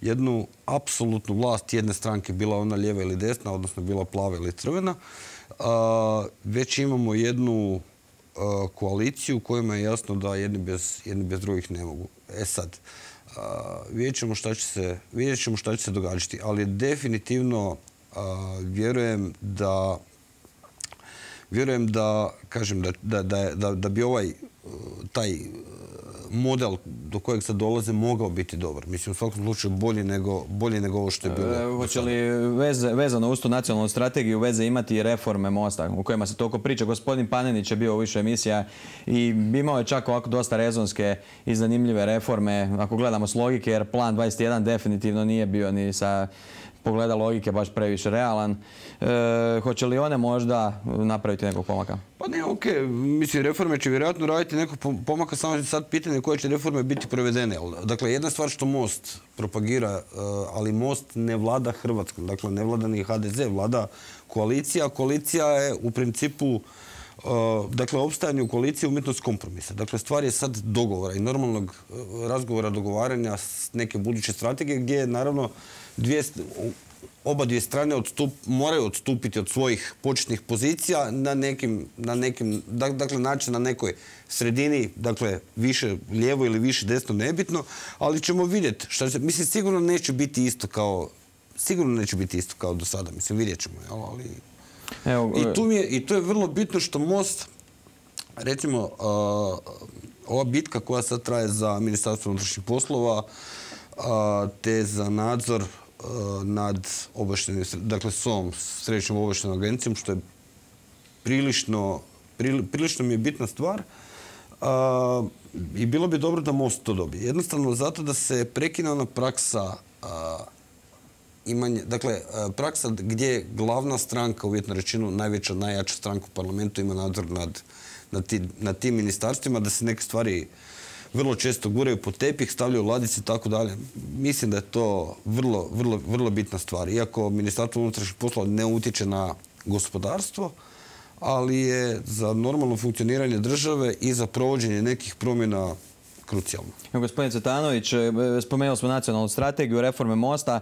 jednu apsolutnu vlast jedne stranke, bila ona lijeva ili desna, odnosno bila plava ili crvena, Uh, već imamo jednu uh, koaliciju kojima je jasno da jedni bez, jedni bez drugih ne mogu. E sad, uh, vidjet ćemo šta će se, vidjet ćemo šta će se događati, ali definitivno uh, vjerujem da vjerujem da, kažem, da, da, da, da, da bi ovaj uh, taj model do kojeg sad dolaze mogao biti dobar. Mislim, u svakom slučaju bolji nego, bolji nego ovo što je bilo. E, hoće li veze, vezano uz tu nacionalnu strategiju veze imati i reforme Mosta u kojima se toliko priča? Gospodin Panenić je bio u više emisija i imao je čak ovako dosta rezonske i zanimljive reforme, ako gledamo s logike, jer plan dvadeset jedan definitivno nije bio ni sa pogleda logike baš previše realan. E, hoće li one možda napraviti nekog pomaka? Pa ne, okej. Okay. Mislim, reforme će vjerojatno raditi nekog pomaka, samo je sad pitanje koje će reforme biti provedene. Dakle, jedna stvar što Most propagira, ali Most ne vlada Hrvatskom. Dakle, ne vlada ni ha de ze, vlada koalicija. Koalicija je u principu, dakle, opstajanje u koaliciji umjetnost kompromisa. Dakle, stvar je sad dogovora i normalnog razgovora, dogovaranja s neke buduće strategije gdje je, naravno, dvije, oba dvije strane odstup, moraju odstupiti od svojih početnih pozicija na nekim, na nekim, dakle, način na nekoj sredini, dakle, više lijevo ili više desno, nebitno, ali ćemo vidjeti šta će, mislim, sigurno neće biti isto kao, sigurno neće biti isto kao do sada, mislim, vidjet ćemo, ali... Evo, I, tu mi je, I tu je vrlo bitno što Most, recimo, uh, ova bitka koja sad traje za Ministarstvo unutrašnjih poslova, uh, te za nadzor uh, nad obavještajnim, dakle S O M, Središnjom obavještajnom agencijom, što je prilično, prili, prilično mi je bitna stvar. Uh, I bilo bi dobro da Most to dobije. Jednostavno zato da se prekine ona praksa uh, imanje, dakle, praksa gdje je glavna stranka, uvjetno rečeno, najveća, najjača stranka u parlamentu ima nadzor nad, nad, ti, nad tim ministarstvima, da se neke stvari vrlo često guraju po tepih, stavljaju u ladice i tako dalje. Mislim da je to vrlo, vrlo, vrlo bitna stvar. Iako Ministarstvo unutrašnjih poslova ne utječe na gospodarstvo, ali je za normalno funkcioniranje države i za provođenje nekih promjena krucijalno. Gospodin Cvetanović, spomenuli smo nacionalnu strategiju, reforme Mosta,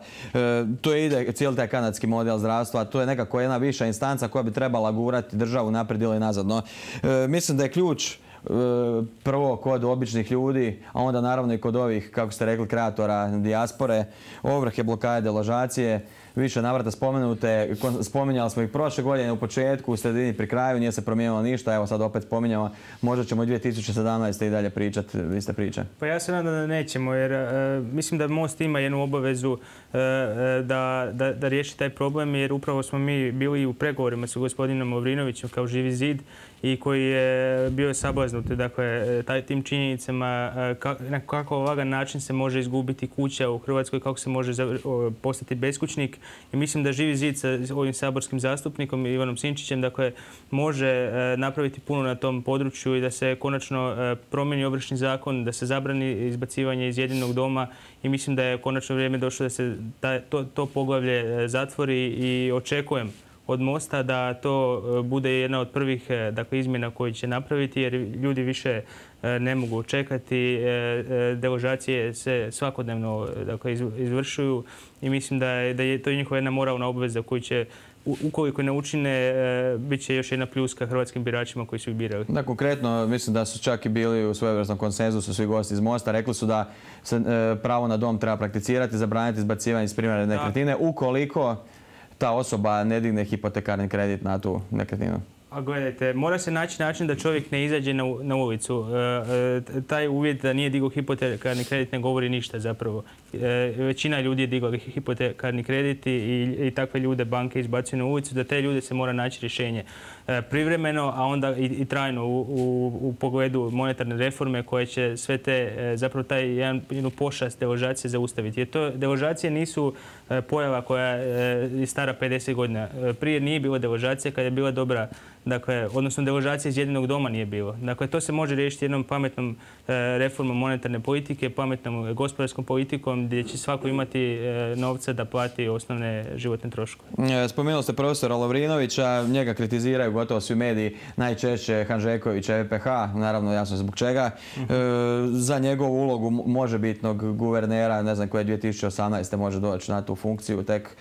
to ide cijeli taj kanadski model zdravstva, to je nekako jedna viša instanca koja bi trebala gurati državu naprijed ili nazad. No, mislim da je ključ prvo kod običnih ljudi, a onda naravno i kod ovih, kako ste rekli, kreatora dijaspore, ovrhe, blokade, deložacije, više navrata spomenute, spominjali smo ih prošle godine u početku, u sredini, pri kraju, nije se promijenilo ništa, evo sad opet spominjamo, možda ćemo i dvije tisuće sedamnaeste. i dalje pričati, vi ste priče. Pa ja se nadam da nećemo, jer uh, mislim da Most ima jednu obavezu uh, da, da, da riješi taj problem, jer upravo smo mi bili u pregovorima sa gospodinom Lovrinovićem kao Živi zid i koji je bio sablaznut, dakle, taj, tim činjenicama uh, na kako ovakav način se može izgubiti kuća u Hrvatskoj, kako se može za, uh, postati beskućnik. I mislim da Živi zid sa ovim saborskim zastupnikom Ivanom Sinčićem, dakle, može uh, napraviti puno na tom području i da se konačno uh, promijeni Ovršni zakon, da se zabrani izbacivanje iz jedinog doma i mislim da je konačno vrijeme došlo da se ta, to, to poglavlje zatvori i očekujem od Mosta da to bude jedna od prvih, dakle, izmjena koje će napraviti, jer ljudi više ne mogu čekati. Deložacije se svakodnevno, dakle, izvršuju i mislim da je, da je to njihova jedna moralna obveza koju će, ukoliko ne učine, bit će još jedna pljuska hrvatskim biračima koji su ih birali. Da, konkretno, mislim da su čak i bili u svojevrsnom konsenzusu svi gosti iz Mosta. Rekli su da se pravo na dom treba prakticirati, zabraniti izbacivanje iz primjerne nekretnine, ukoliko ta osoba ne digne hipotekarni kredit na tu nekretninu. A gledajte, mora se naći način da čovjek ne izađe na, na ulicu. E, taj uvjet da nije digao hipotekarni kredit ne govori ništa zapravo. E, većina ljudi je digla hipotekarni kredit i, i takve ljude banke izbacuju na ulicu. Da te ljude se mora naći rješenje e, privremeno, a onda i, i trajno u, u, u pogledu monetarne reforme koje će sve te, e, zapravo taj jedan, jednu pošast deložacije zaustaviti. Jer to, deložacije nisu e, pojava koja je stara pedeset godina. E, prije nije bilo deložacije kad je bila dobra, dakle, odnosno deložacije iz jedinog doma nije bilo. Dakle, to se može riješiti jednom pametnom e, reformom monetarne politike, pametnom gospodarskom politikom gdje će svako imati e, novca da plati osnovne životne troškove. Spomenuli ste profesora Lovrinovića, njega kritiziraju gotovo svi mediji, najčešće Hanžekovića, E P H, naravno jasno zbog čega. E, za njegovu ulogu možebitnog guvernera, ne znam koje dvije tisuće osamnaeste. može doći na tu funkciju tek.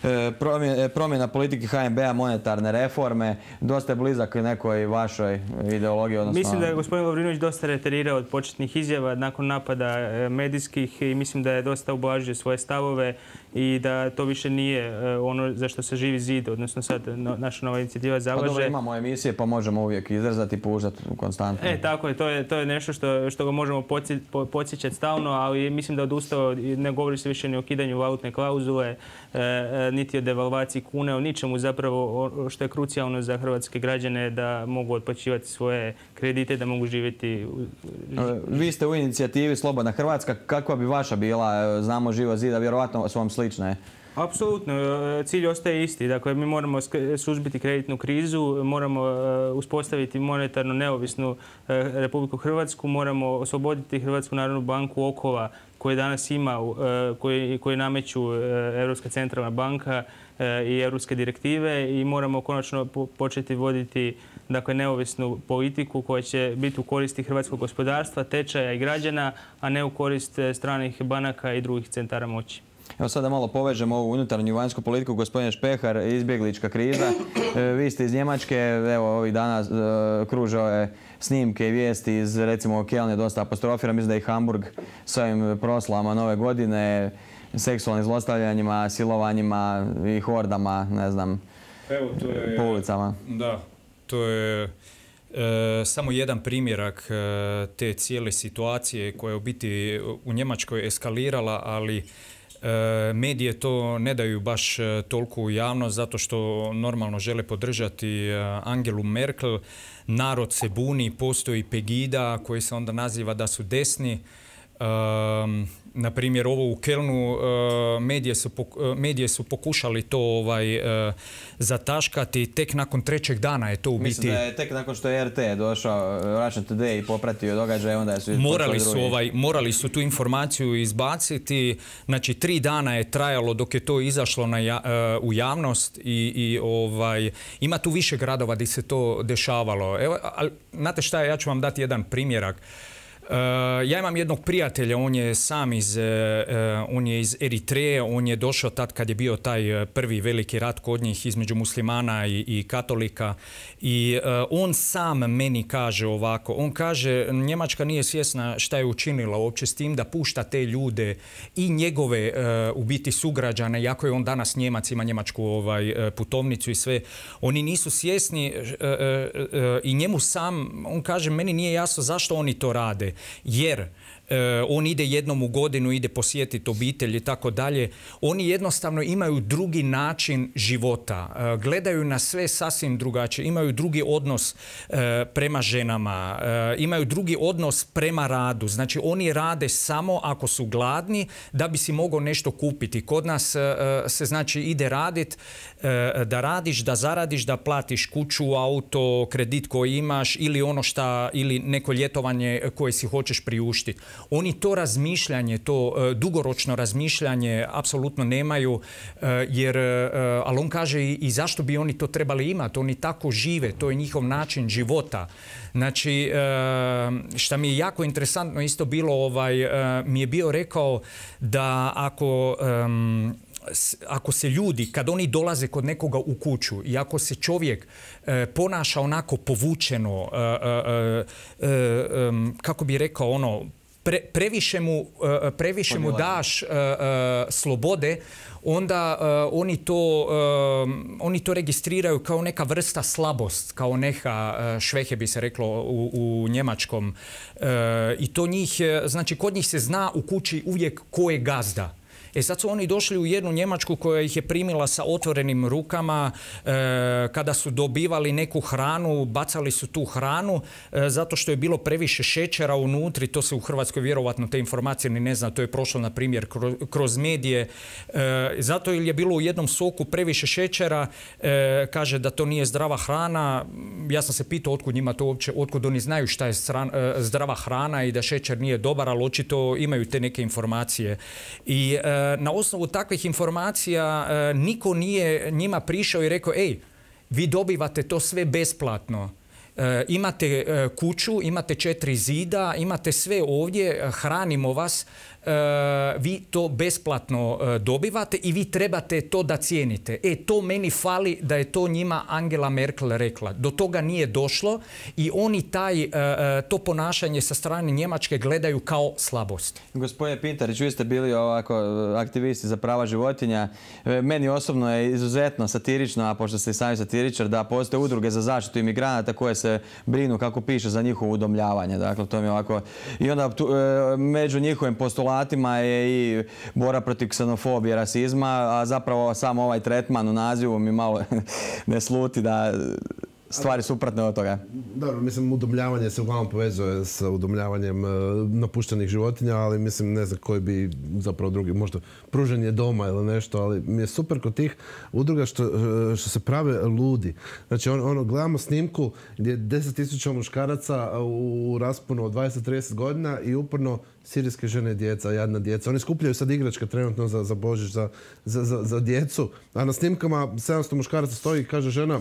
E, promjena, promjena politike H N B-a, monetarne reforme, dosta je blizak nekoj vašoj ideologiji. Odnosno... Mislim da je gospodin Lovrinović dosta reterirao od početnih izjava nakon napada medijskih i mislim da je dosta ublažio svoje stavove i da to više nije ono za što se Živi zid, odnosno sad naša nova inicijativa zalaže. Pa dobro, imamo emisije pa možemo uvijek izrazati i puštati konstantno. E, tako je, to je, to je nešto što, što ga možemo podsjećati stalno, ali mislim da odustao, ne govori se više ni o kidanju valutne klauzule, e, niti o devalvaciji kune, o ničemu zapravo što je krucijalno za hrvatske građane da mogu otplaćivati svoje kredite, da mogu živjeti. Vi ste u inicijativi Slobodna Hrvatska. Kakva bi vaša bila? Znamo Živo zida, vjerovatno su vam slične. Apsolutno. Cilj ostaje isti. Dakle, mi moramo suzbiti kreditnu krizu, moramo uspostaviti monetarno neovisnu Republiku Hrvatsku, moramo osloboditi Hrvatsku narodnu banku okova koje danas ima, koje, koje nameću Europska centralna banka i europske direktive i moramo konačno početi voditi, dakle, neovisnu politiku koja će biti u koristi hrvatskog gospodarstva, tečaja i građana, a ne u korist stranih banaka i drugih centara moći. Evo sada malo povežemo ovu unutarnju i vanjsku politiku. Gospodine Špehar, izbjeglička kriza. Vi ste iz Njemačke, evo ovih dana kruže ove snimke i vijesti iz, recimo, Kelne dosta apostrofira. Mislim da je i Hamburg s ovim proslavama nove godine, seksualnim zlostavljanjima, silovanjima i hordama, ne znam, evo, to je, po ulicama. Da, to je e, samo jedan primjerak e, te cijele situacije koja je u biti u Njemačkoj eskalirala, ali E, medije to ne daju baš toliko u javnost zato što normalno žele podržati Angelu Merkel. Narod se buni, postoji Pegida koji se onda naziva da su desni. E, na primjer, ovo u Kelnu e, medije, su, medije su pokušali to ovaj, e, zataškati. Tek nakon trećeg dana je to u biti... Mislim da je tek nakon što je R T došao, Russia Today, i popratio događaj, onda su... Morali su, ovaj, morali su tu informaciju izbaciti. Znači, tri dana je trajalo dok je to izašlo na ja, uh, u javnost i, i ovaj, ima tu više gradova gdje se to dešavalo. Evo, ali, znate šta je, ja ću vam dati jedan primjerak. Uh, Ja imam jednog prijatelja, on je sam iz, on je iz Eritreje, on je došao tad kad je bio taj prvi veliki rat kod njih između muslimana i, i katolika i on sam meni kaže ovako, on kaže Njemačka nije svjesna šta je učinila uopće s tim da pušta te ljude i njegove u biti sugrađane, iako je on danas Njemac, ima njemačku ovaj, putovnicu i sve, oni nisu svjesni i njemu sam, on kaže meni nije jasno zašto oni to rade. Jer e, on ide jednom u godinu, ide posjetiti obitelj i tako dalje. Oni jednostavno imaju drugi način života. E, gledaju na sve sasvim drugačije. Imaju drugi odnos e, prema ženama. E, imaju drugi odnos prema radu. Znači oni rade samo ako su gladni da bi si mogao nešto kupiti. Kod nas e, se znači ide radit, e, da radiš, da zaradiš, da platiš kuću, auto, kredit koji imaš ili ono šta, ili neko ljetovanje koje si hoćeš priuštiti. Oni to razmišljanje, to e, dugoročno razmišljanje apsolutno nemaju, e, jer, e, ali on kaže i, i zašto bi oni to trebali imati? Oni tako žive, to je njihov način života. Znači, e, šta mi je jako interesantno isto bilo, ovaj, e, mi je bio rekao da ako... E, ako se ljudi, kad oni dolaze kod nekoga u kuću i ako se čovjek e, ponaša onako povučeno, e, e, e, e, kako bi rekao, ono, pre, previše mu, e, previše mu daš e, e, slobode, onda e, oni, to, e, oni to registriraju kao neka vrsta slabost, kao neka e, švehe bi se reklo u, u njemačkom. E, I to njih, znači kod njih se zna u kući uvijek ko je gazda. E sad su oni došli u jednu Njemačku koja ih je primila sa otvorenim rukama, e, kada su dobivali neku hranu, bacali su tu hranu e, zato što je bilo previše šećera unutri, to se u Hrvatskoj vjerovatno te informacije ni ne zna, to je prošlo na primjer kroz, kroz medije, e, zato jer je bilo u jednom soku previše šećera, e, kaže da to nije zdrava hrana. Ja sam se pitao otkud njima to uopće, otkud oni znaju šta je stran, e, zdrava hrana i da šećer nije dobar, ali očito imaju te neke informacije. I e, na osnovu takvih informacija e, niko nije njima prišao i rekao ej, vi dobivate to sve besplatno. E, imate e, kuću, imate četiri zida, imate sve ovdje, hranimo vas, e, vi to besplatno e, dobivate i vi trebate to da cijenite. E, to meni fali da je to njima Angela Merkel rekla. Do toga nije došlo i oni taj, e, to ponašanje sa strane Njemačke gledaju kao slabost. Gospodine Pintarić, vi ste bili ovako aktivisti za prava životinja. Meni osobno je izuzetno satirično, a pošto ste i sami satiričar, da postoje udruge za zaštitu imigranata koje se brinu, kako piše, za njihovo udomljavanje. Dakle, to mi je ovako... I onda tu, e, među njihovim postulatima je i bora protiv ksenofobije, rasizma, a zapravo samo ovaj tretman u nazivu mi malo ne sluti da stvari suprotne od toga. Dobro, mislim, udomljavanje se uglavnom povezuje sa udomljavanjem uh, napuštenih životinja, ali mislim, ne znam koji bi zapravo drugi, možda pružanje doma ili nešto, ali mi je super kod tih udruga što, što se prave ludi. Znači, on, ono, gledamo snimku gdje je deset tisuća muškaraca u rasponu od dvadeset do trideset godina i uporno sirijske žene i djeca, jadna djeca. Oni skupljaju sad igračke trenutno za, za Božić, za, za, za, za djecu, a na snimkama sedamsto muškaraca stoji i kaže žena,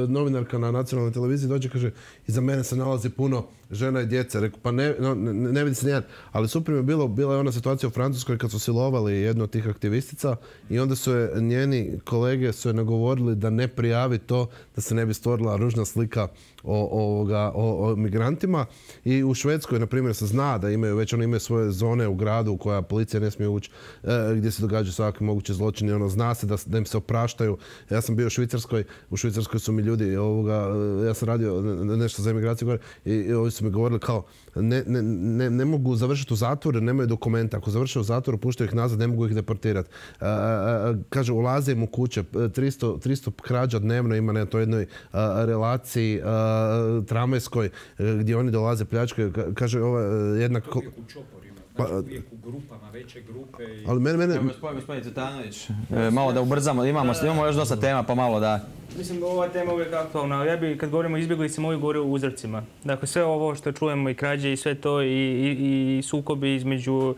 novinarka na nacionalnoj televiziji, dođe, kaže, iza mene se nalazi puno žena i djece. Reku, pa ne, no, ne, ne vidi se nijedan. Ali super mi je bilo, bila je ona situacija u Francuskoj kad su silovali jednu od tih aktivistica i onda su je njeni kolege su je nagovorili da ne prijavi to, da se ne bi stvorila ružna slika o, ovoga, o, o migrantima. I u Švedskoj, na primjer, se zna da imaju, već oni imaju svoje zone u gradu u koja policija ne smije ući, e, gdje se događaju svaki mogući zločini. Ono, zna se da, da im se opraštaju. Ja sam bio u Švicarskoj, u Švicarskoj su mi ljudi, ovoga, ja sam radio nešto za emigraciju i, i ovi su mi govorili kao ne, ne, ne, ne mogu završiti u zatvoru, nemaju dokumenta. Ako završe u zatvoru, puštaju ih nazad, ne mogu ih deportirati. Kaže, ulaze im u kuće, tristo, tristo krađa dnevno ima na toj jednoj a, relaciji a, tramvajskoj gdje oni dolaze pljačkaju. Kaže, ova jedna... Znači uvijek u grupama, veće grupe. I... Ali mene, mene... Evo, gospodin, gospodin Cvetanović, e, malo da ubrzamo, imamo, imamo još dosta tema, pa malo da... Mislim, ova tema uvijek aktualna. Ja bi, kad govorimo o izbjeglicama, uvijek govorio o uzrocima. Dakle, sve ovo što čujemo i krađe i sve to, i, i, i sukobi između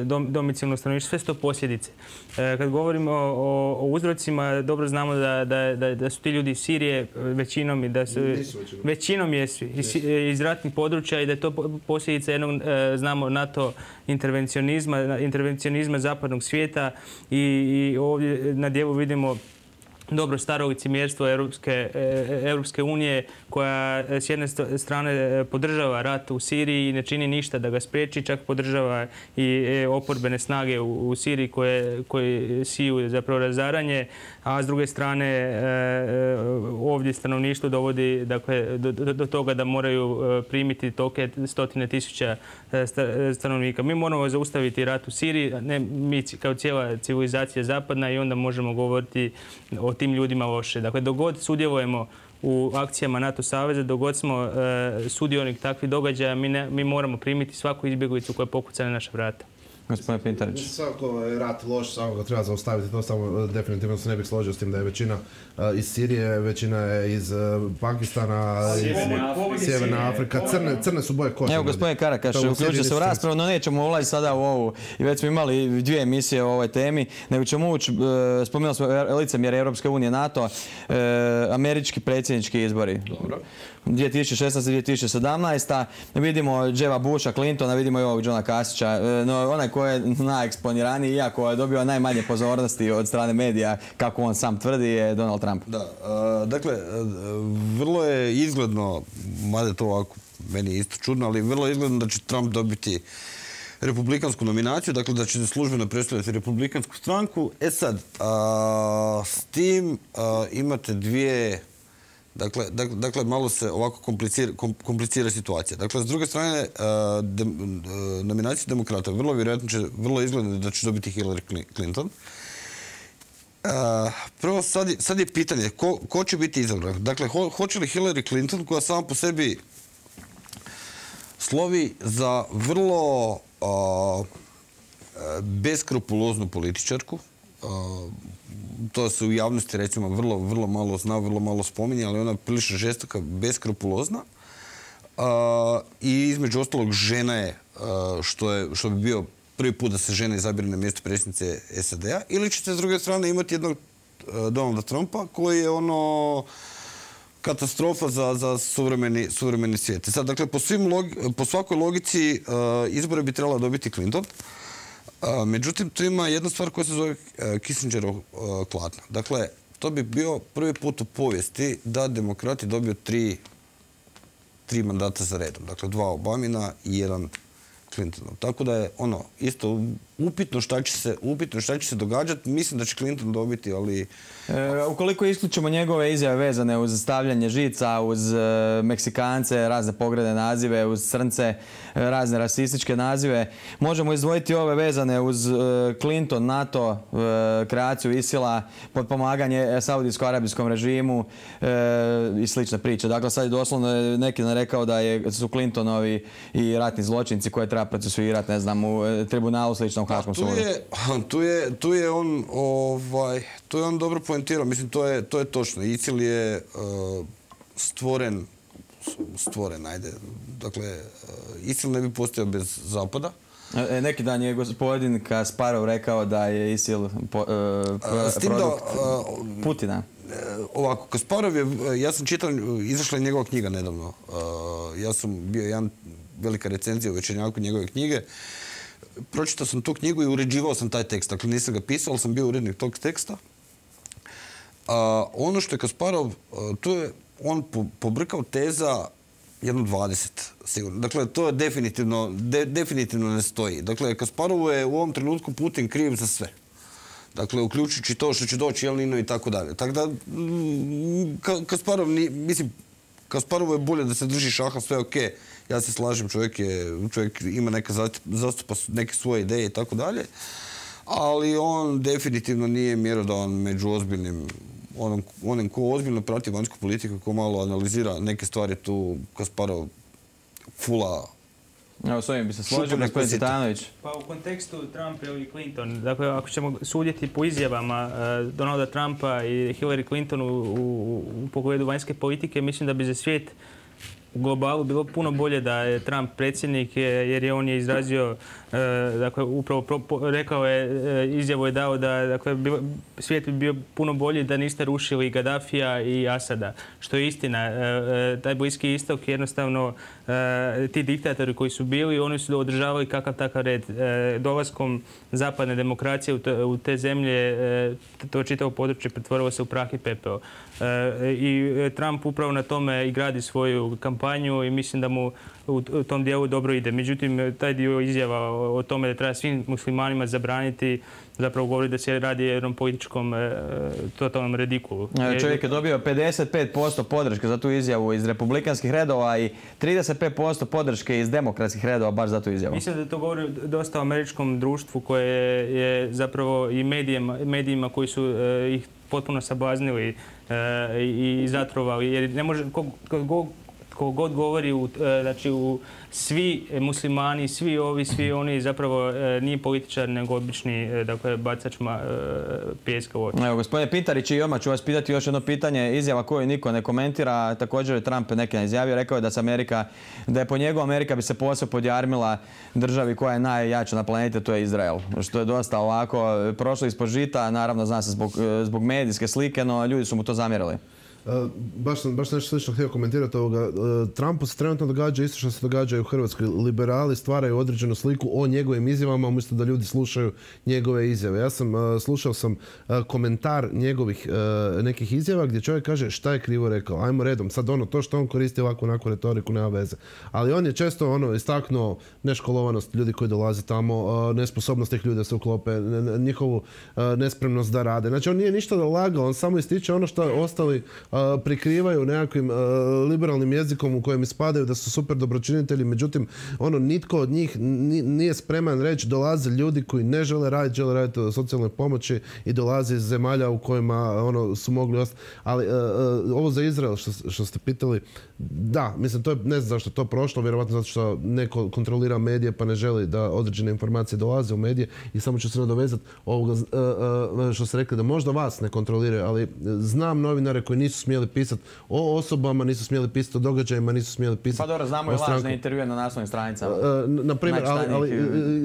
dom, domicilnog stanovništva, sve su to posljedice. E, kad govorimo o, o uzrocima, dobro znamo da, da, da, da su ti ljudi iz Sirije većinom i da su... Većinom. Većinom jesu. Iz, iz ratnih područja i da je to posljedica jednog, e, znamo, NATO intervencionizma, intervencionizma zapadnog svijeta i, i ovdje na dijelu vidimo dobro staro licemjerstvo Europske, Europske unije koja s jedne strane podržava rat u Siriji i ne čini ništa da ga spriječi, čak podržava i oporbene snage u, u Siriji koje, koje siju zapravo razaranje, a s druge strane ovdje stanovništvo dovodi dakle, do, do, do toga da moraju primiti toke stotine tisuća stanovnika. Mi moramo zaustaviti rat u Siriji, ne mi kao cijela civilizacija zapadna, i onda možemo govoriti o tim ljudima loše. Dakle, dok god sudjelujemo u akcijama NATO saveza, dok god smo e, sudionik takvih događaja, mi, ne, mi moramo primiti svaku izbjeglicu koja pokuca na naša vrata. Gospodin Pintarić. Svako je rat loš, samo ga treba zaustaviti, to samo definitivno se ne bih složio s tim da je većina uh, iz Sirije, većina je iz uh, Pakistana, iz Sjeverne Afrika, crne, crne su boje kože. Evo, gospodin Karakaš, uključio se u raspravu, no nećemo ulaziti sada u ovu, i već smo imali dvije emisije o ovoj temi, nego ćemo ući, uh, spomenuli smo licemjerje Europske unije, NATO, uh, američki predsjednički izbori. Dobro. dvije tisuće šesnaesta dvije tisuće sedamnaesta Vidimo Jeba Busha, Clintona, vidimo i ovog Johna Kasića. No, onaj ko je najeksponiraniji, iako je dobio najmanje pozornosti od strane medija, kako on sam tvrdi, je Donald Trump. Da, uh, dakle, uh, vrlo je izgledno, mada to ovako, meni je isto čudno, ali vrlo je izgledno da će Trump dobiti republikansku nominaciju, dakle da će se službeno predstavljati republikansku stranku. E sad, uh, s tim uh, imate dvije... Dakle, dakle, dakle, malo se ovako komplicira, komplicira situacija. Dakle, s druge strane, uh, de, uh, nominacija demokrata vrlo vjerojatno će, vrlo izgledno da će dobiti Hillary Clinton. Uh, prvo, sad je, sad je pitanje, ko, ko će biti izabran? Dakle, ho, hoće li Hillary Clinton, koja sama po sebi slovi za vrlo uh, beskrupuloznu političarku, uh, to se u javnosti recimo vrlo, vrlo malo zna, vrlo malo spominje, ali ona je prilično žestoka, beskrupulozna. Uh, I između ostalog žena je, uh, što je, što bi bio prvi put da se žena izabire na mjesto predsjednice S A D-a. Ili ćete s druge strane imati jednog uh, Donalda Trumpa koji je ono katastrofa za, za suvremeni, suvremeni svijet. Sad, dakle, po, svim logi, po svakoj logici uh, izbore bi trebala dobiti Clinton. Uh, međutim, tu ima jedna stvar koja se zove uh, Kissingerov uh, klatno. Dakle, to bi bio prvi put u povijesti da demokrati dobiju tri, tri mandata za redom. Dakle, dva Obamina i jedan Clintonov. Tako da je ono isto upitno šta će se, upitno šta će se događati. Mislim da će Clinton dobiti, ali... E, ukoliko isključimo njegove izjave vezane uz stavljanje žica, uz e, Meksikance, razne pogredne nazive, uz Crnce, e, razne rasističke nazive, možemo izdvojiti ove vezane uz e, Clinton, NATO, e, kreaciju Isila, potpomaganje saudijsko-arabijskom režimu e, i slične priče. Dakle, sad je doslovno neki nam rekao da je, su Clintonovi i ratni zločinci koje treba procesuirati, ne znam, u e, tribunalu sličnom Haškom sudu. Tu je, tu je, tu je on, ovaj, tu je on dobro poentirao. Mislim, to je, to je točno. ISIL je uh, stvoren, stvoren, ajde. Dakle, uh, ISIL ne bi postojao bez Zapada. E, neki dan je gospodin Kasparov rekao da je ISIL po, uh, pro, produkt da, uh, Putina. Ovako, Kasparov je, ja sam čitao, izašla je njegova knjiga nedavno. Uh, ja sam bio jedan velika recenzija u Večernjaku njegove knjige. Pročitao sam tu knjigu i uređivao sam taj tekst. Dakle, nisam ga pisao, ali sam bio urednik tog teksta. Uh, ono što je Kasparov, uh, tu je on po, pobrkao teza jedno dvadeset, sigurno. Dakle, to je definitivno, de, definitivno ne stoji. Dakle, Kasparovu je u ovom trenutku Putin kriv za sve. Dakle, uključujući to što će doći Jelnino i tako dalje. Tako da, ka, Kasparov, ni, mislim, Kasparovu je bolje da se drži šaha, sve je okej. Okay. Ja se slažem, čovjek, je, čovjek ima neka zastupa neke svoje ideje i tako dalje. Ali on definitivno nije mjerodavan među ozbiljnim, onom, onim ko ozbiljno prati vanjsku politiku, ko malo analizira neke stvari tu Kasparov fula Evo, s ovim bi se složio, gospodin Cvitanović. Pa u kontekstu Trump i Clinton, dakle, ako ćemo sudjeti po izjavama uh, Donalda Trumpa i Hillary Clinton u, u, u pogledu vanjske politike, mislim da bi za svijet u globalu bilo puno bolje da je Trump predsjednik, jer je on je izrazio, dakle, upravo rekao je, izjavu je dao da, dakle, svijet bi bio puno bolji da niste rušili Gaddafija i Asada, što je istina. Taj Bliski istok jednostavno, ti diktatori koji su bili, oni su održavali kakav takav red. Dolaskom zapadne demokracije u te zemlje, to čitavo područje pretvorilo se u prah i pepeo. I Trump upravo na tome i gradi svoju kampanju i mislim da mu u tom dijelu dobro ide. Međutim, taj dio izjava o tome da treba svim muslimanima zabraniti zapravo govori da se radi o jednom političkom totalnom redikulu. Čovjek je dobio pedeset pet posto podrške za tu izjavu iz republikanskih redova i trideset pet posto podrške iz demokratskih redova baš za tu izjavu. Mislim da to govori dosta o američkom društvu koje je zapravo i medijima, medijima koji su ih potpuno sablaznili i zatrovali. Jer ne može, ko god govori, u, znači u svi muslimani, svi ovi, svi oni zapravo nije političar nego obični, dakle, bacač pijeska u oči. Evo, gospodine Pintarić, i odmah ću vas pitati još jedno pitanje. Izjava koju niko ne komentira. Također je Trump neki izjavio, rekao je da se Amerika, da je po njegu Amerika bi se posve podjarmila državi koja je najjača na planeti, to je Izrael. Što je dosta ovako prošlo ispod žita, naravno zna se zbog, zbog medijske slike, no ljudi su mu to zamjerili. Uh, baš sam baš nešto slično htio komentirati ovoga. Uh, Trumpu se trenutno događa isto što se događa i u Hrvatskoj. Liberali stvaraju određenu sliku o njegovim izjavama umjesto da ljudi slušaju njegove izjave. Ja sam uh, slušao sam uh, komentar njegovih uh, nekih izjava gdje čovjek kaže šta je krivo rekao. Ajmo redom. Sad ono, to što on koristi ovakvu onakvu retoriku nema veze. Ali on je često ono istaknuo neškolovanost ljudi koji dolaze tamo, uh, nesposobnost tih ljudi da se uklope, njihovu uh, nespremnost da rade. Znači on nije ništa da lagao, on samo ističe ono što ostali Uh, prikrivaju nekakvim uh, liberalnim jezikom u kojem ispadaju da su super dobročinitelji, međutim ono nitko od njih nije spreman reći. Dolaze ljudi koji ne žele raditi, žele raditi o socijalnoj pomoći i dolaze iz zemalja u kojima ono su mogli ostati. Ali uh, uh, ovo za Izrael što, što ste pitali, da, mislim, to je, ne znam zašto je to prošlo, vjerovatno zato što neko kontrolira medije pa ne želi da određene informacije dolaze u medije. I samo ću se nadovezati ovoga uh, uh, što ste rekli da možda vas ne kontroliraju, ali znam novinare koji nisu smjeli pisati o osobama, nisu smjeli pisati o događajima, nisu smjeli pisati. Pa dobro, znamo i lažne intervjue na naslovnim stranicama. Na primjer, ali, ali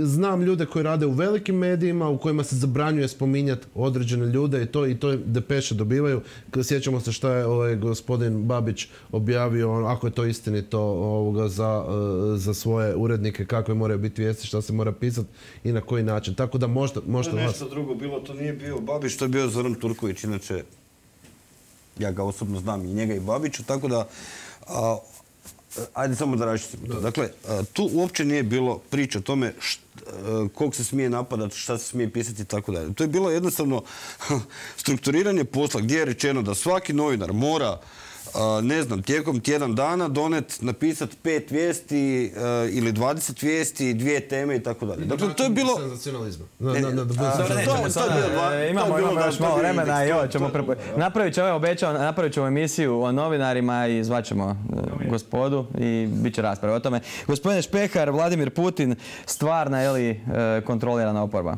znam ljude koji rade u velikim medijima u kojima se zabranjuje spominjati određene ljude i to i to depeše dobivaju. Sjećamo se šta je ovaj gospodin Babić objavio, ako je to istinito, ovoga za, za svoje urednike, kakve moraju biti vijesti, šta se mora pisati i na koji način. Tako da možda, možda to je nešto vas... drugo bilo, to nije bio Babić, to je bio Zoran Turković, inače ja ga osobno znam i njega i Babiću, tako da a, ajde samo da raščistimo to. Dakle, a, tu uopće nije bilo priče o tome kog se smije napadati, šta se smije pisati i tako dalje. To je bilo jednostavno strukturiranje posla gdje je rečeno da svaki novinar mora ne znam, tijekom tjedan dana donet, napisat pet vijesti ili dvadeset vijesti, dvije teme i tako dalje. Dakle, to je bilo... Senzacionalizma. Imamo još malo vremena i ovo ćemo... Napravit ćemo, obećao, napravit ćemo emisiju o novinarima i zvaćemo gospodu i bit će rasprave o tome. Gospodine Špehar, Vladimir Putin, stvarna je li kontrolirana oporba?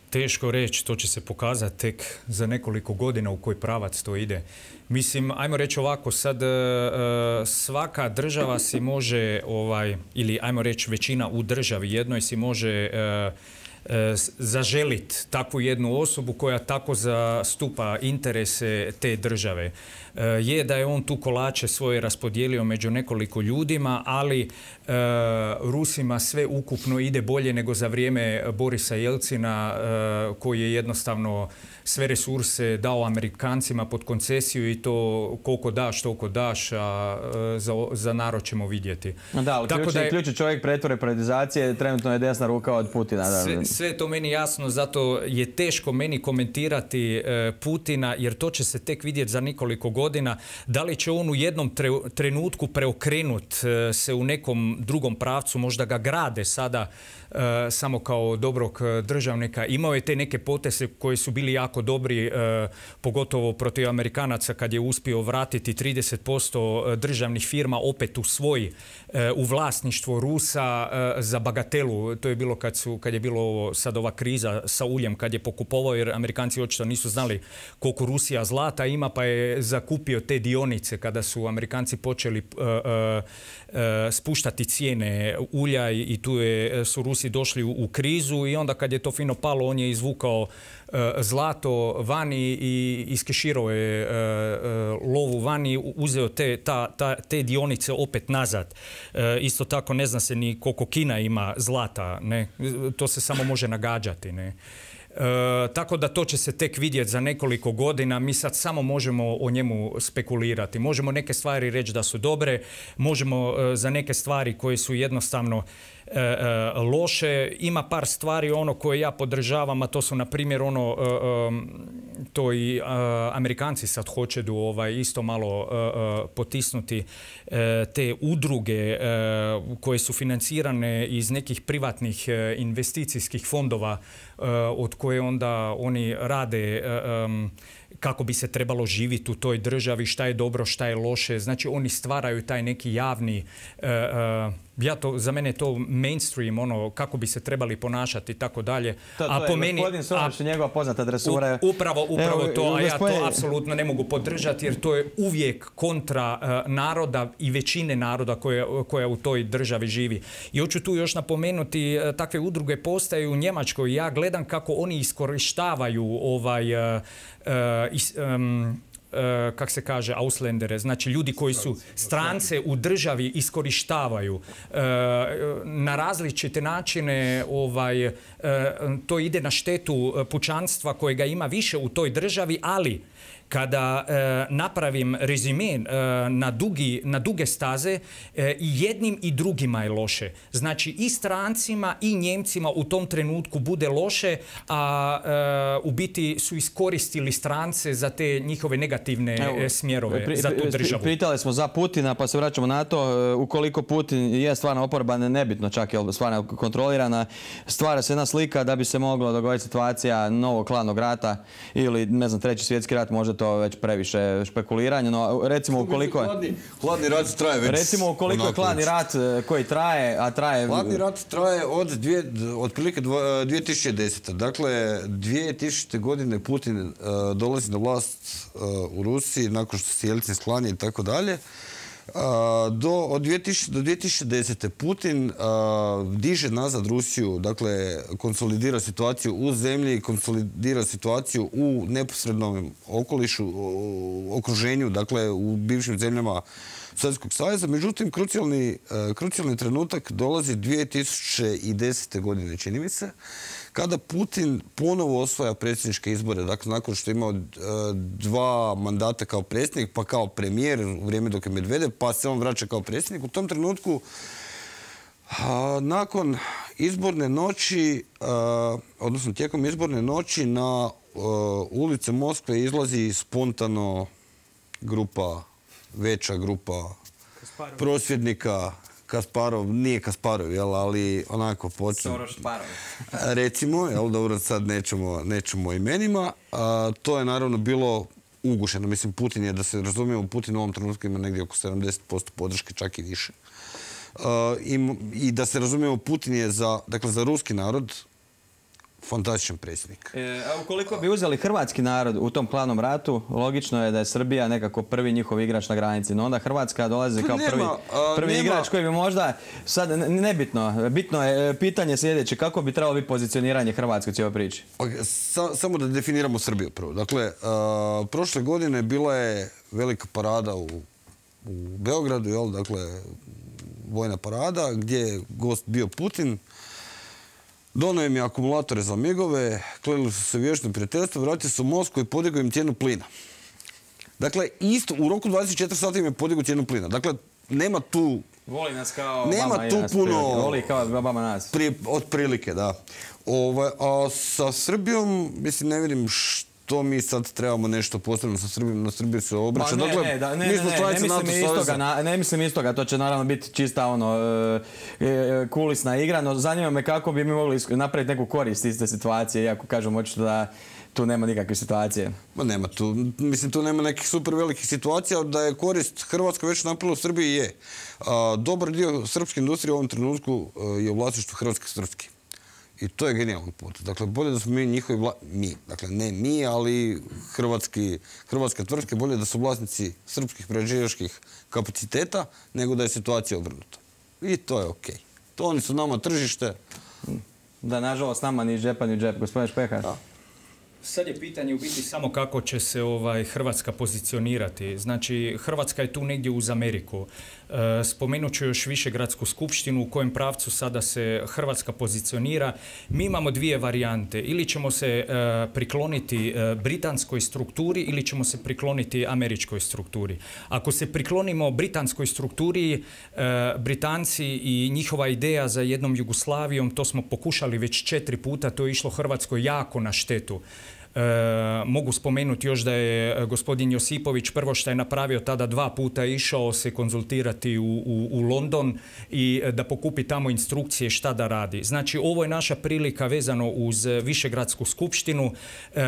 Teško reći, to će se pokazati tek za nekoliko godina u koji pravac to ide. Mislim, ajmo reći ovako, sad svaka država si može, ovaj, ili ajmo reći većina u državi jednoj si može zaželiti takvu jednu osobu koja tako zastupa interese te države. Je da je on tu kolače svoje raspodijelio među nekoliko ljudima, ali Rusima sve ukupno ide bolje nego za vrijeme Borisa Jelcina, koji je jednostavno sve resurse dao Amerikancima pod koncesiju i to koliko daš, toliko daš, a za, za narod ćemo vidjeti. Da, ali ključni, da je, ključni čovjek pretvore privatizacije trenutno je desna ruka od Putina. Da. Sve, sve to meni jasno, zato je teško meni komentirati e, Putina, jer to će se tek vidjeti za nekoliko godina. godina, da li će on u jednom trenutku preokrenut se u nekom drugom pravcu, možda ga grade sada samo kao dobrog državnika. Imao je te neke poteze koji su bili jako dobri, pogotovo protiv Amerikanaca kad je uspio vratiti trideset posto državnih firma opet u svoj, u vlasništvo Rusa za bagatelu. To je bilo kad, su, kad je bilo sad ova kriza sa uljem, kad je pokupovao, jer Amerikanci očito nisu znali koliko Rusija zlata ima, pa je zakupio te dionice kada su Amerikanci počeli uh, uh, uh, spuštati cijene ulja i, i tu je, su Rusi došli u, u krizu i onda kad je to fino palo, on je izvukao uh, zlato vani i iskeširao je uh, uh, lovu vani, uzeo te, ta, ta, te dionice opet nazad. Uh, isto tako ne zna se ni koliko Kina ima zlata, ne? To se samo može nagađati, ne? E, tako da to će se tek vidjeti za nekoliko godina. Mi sad samo možemo o njemu spekulirati. Možemo neke stvari reći da su dobre, možemo e, za neke stvari koje su jednostavno e, e, loše. Ima par stvari ono koje ja podržavam, a to su na primjer ono, e, e, to i e, Amerikanci sad hoće da ovaj, isto malo e, e, potisnuti e, te udruge e, koje su financirane iz nekih privatnih e, investicijskih fondova od koje onda oni rade um, kako bi se trebalo živjeti u toj državi, šta je dobro, šta je loše. Znači oni stvaraju taj neki javni, uh, uh, ja to, za mene je to mainstream, ono kako bi se trebali ponašati i tako dalje. To, to a po je meni, gospodin Soroš i njegova poznata dresura. U, upravo upravo Evo, to, a ja to apsolutno ne mogu podržati jer to je uvijek kontra uh, naroda i većine naroda koja, koja u toj državi živi. I hoću tu još napomenuti, uh, takve udruge postaju u Njemačkoj. Ja gledam kako oni iskorištavaju ovaj uh, uh, is, um, Uh, kak se kaže, Ausländere, znači ljudi koji su strance u državi iskorištavaju uh, na različite načine, ovaj, uh, to ide na štetu pučanstva kojega ima više u toj državi, ali kada e, napravim rezime e, na, dugi, na duge staze, e, i jednim i drugima je loše. Znači i strancima i Njemcima u tom trenutku bude loše, a e, u biti su iskoristili strance za te njihove negativne Evo, smjerove pri, za tu državu. Pitali smo za Putina, pa se vraćamo na to. Ukoliko Putin je stvarno oporba, nebitno čak je stvarno kontrolirana, stvara se jedna slika da bi se mogla dogoditi situacija novog hladnog rata ili, ne znam, treći svjetski rat, možda to već previše špekuliranje, no recimo ukoliko je... Hladni, hladni rat traje već... Recimo ukoliko je hladni rat koji traje, a traje... Hladni rat traje od dvije, otprilike dvije tisuće desete. Dakle, dvije tisućite godine Putin uh, dolazi na vlast uh, u Rusiji nakon što se Jelcin sklanja i tako dalje. Do, od dvije tisuće do dvije tisuće desete. Putin uh, diže nazad Rusiju, dakle konsolidira situaciju u zemlji, konsolidira situaciju u neposrednom okolišu, u okruženju, dakle u bivšim zemljama Sovjetskog saveza. Međutim, krucijalni, uh, krucijalni trenutak dolazi dvije tisuće desete. godine, čini mi se, kada Putin ponovo osvaja predsjedničke izbore, dakle nakon što je imao uh, dva mandata kao predsjednik, pa kao premijer u vrijeme dok je Medvedev, pa se on vraća kao predsjednik. U tom trenutku, uh, nakon izborne noći, uh, odnosno tijekom izborne noći na uh, ulice Moskve izlazi spontano grupa, veća grupa Kasparov. prosvjednika, Kasparov, nije Kasparov, jel, ali onako počne. Soroš Parov. Recimo, jel, dobro, sad nećemo, nećemo imenima. A, to je naravno bilo ugušeno. Mislim, Putin je, da se razumijemo, Putin u ovom trenutku ima negdje oko sedamdeset posto podrške, čak i više. A, i, I da se razumijemo, Putin je za, dakle, za ruski narod fantastičan predsjednik. E, a ukoliko bi uzeli hrvatski narod u tom hladnom ratu, logično je da je Srbija nekako prvi njihov igrač na granici. No onda Hrvatska dolazi kao prvi, prvi igrač koji bi možda, sad nebitno, bitno je pitanje sljedeće, kako bi trebalo biti pozicioniranje Hrvatske u cijeloj priči? Sa, samo da definiramo Srbiju prvo. Dakle, a, prošle godine bila je velika parada u, u Beogradu, jel, dakle, vojna parada, gdje je gost bio Putin. Donio im je akumulatore za migove, klenili su se vječno prijateljstvo, vratili su u Moskvu i podigao im cijenu plina. Dakle, isto u roku dvadeset četiri sata im je podigao cijenu plina. Dakle, nema tu... Voli nas kao nema Obama tu i nas. Puno, Voli kao Obama nas. Prije, od prilike, da. Ovaj, a sa Srbijom, mislim, ne vidim što što mi sad trebamo nešto posebno sa Srbijom, na Srbiju se obraća. Ne, Dakle, ne, da, ne, mi ne, smo ne, članice ne, NATO mislim istoga, saveza. na- ne mislim istoga, to će naravno biti čista ono, e, e, kulisna igra, no zanima me kako bi mi mogli isk- napraviti neku korist iz te situacije, iako kažem očito da tu nema nikakve situacije. Ma nema tu, mislim tu nema nekih super velikih situacija, da je korist Hrvatska već napravila u Srbiji je. A, dobar dio srpske industrije u ovom trenutku e, je u vlasništvu Hrvatske tvrtke. I to je genijalan put. Dakle, bolje da smo mi njihovi vla... mi, dakle ne mi, ali hrvatski, hrvatske tvrtke, bolje da su vlasnici srpskih prerađivačkih kapaciteta, nego da je situacija obrnuta. I to je okej. To oni su nama tržište. Da, nažalost, nama ni iz džepa ni u džep. Gospodin Špehar. Sad je pitanje u biti samo kako će se ovaj Hrvatska pozicionirati. Znači, Hrvatska je tu negdje uz Ameriku. E, spomenut ću još Višegradsku skupštinu u kojem pravcu sada se Hrvatska pozicionira. Mi imamo dvije varijante. Ili ćemo se e, prikloniti e, britanskoj strukturi ili ćemo se prikloniti američkoj strukturi. Ako se priklonimo britanskoj strukturi, e, Britanci i njihova ideja za jednom Jugoslavijom, to smo pokušali već četiri puta, to je išlo Hrvatskoj jako na štetu. E, mogu spomenuti još da je gospodin Josipović prvo što je napravio tada dva puta išao se konzultirati u, u, u London i da pokupi tamo instrukcije šta da radi. Znači ovo je naša prilika vezano uz Višegradsku skupštinu. E,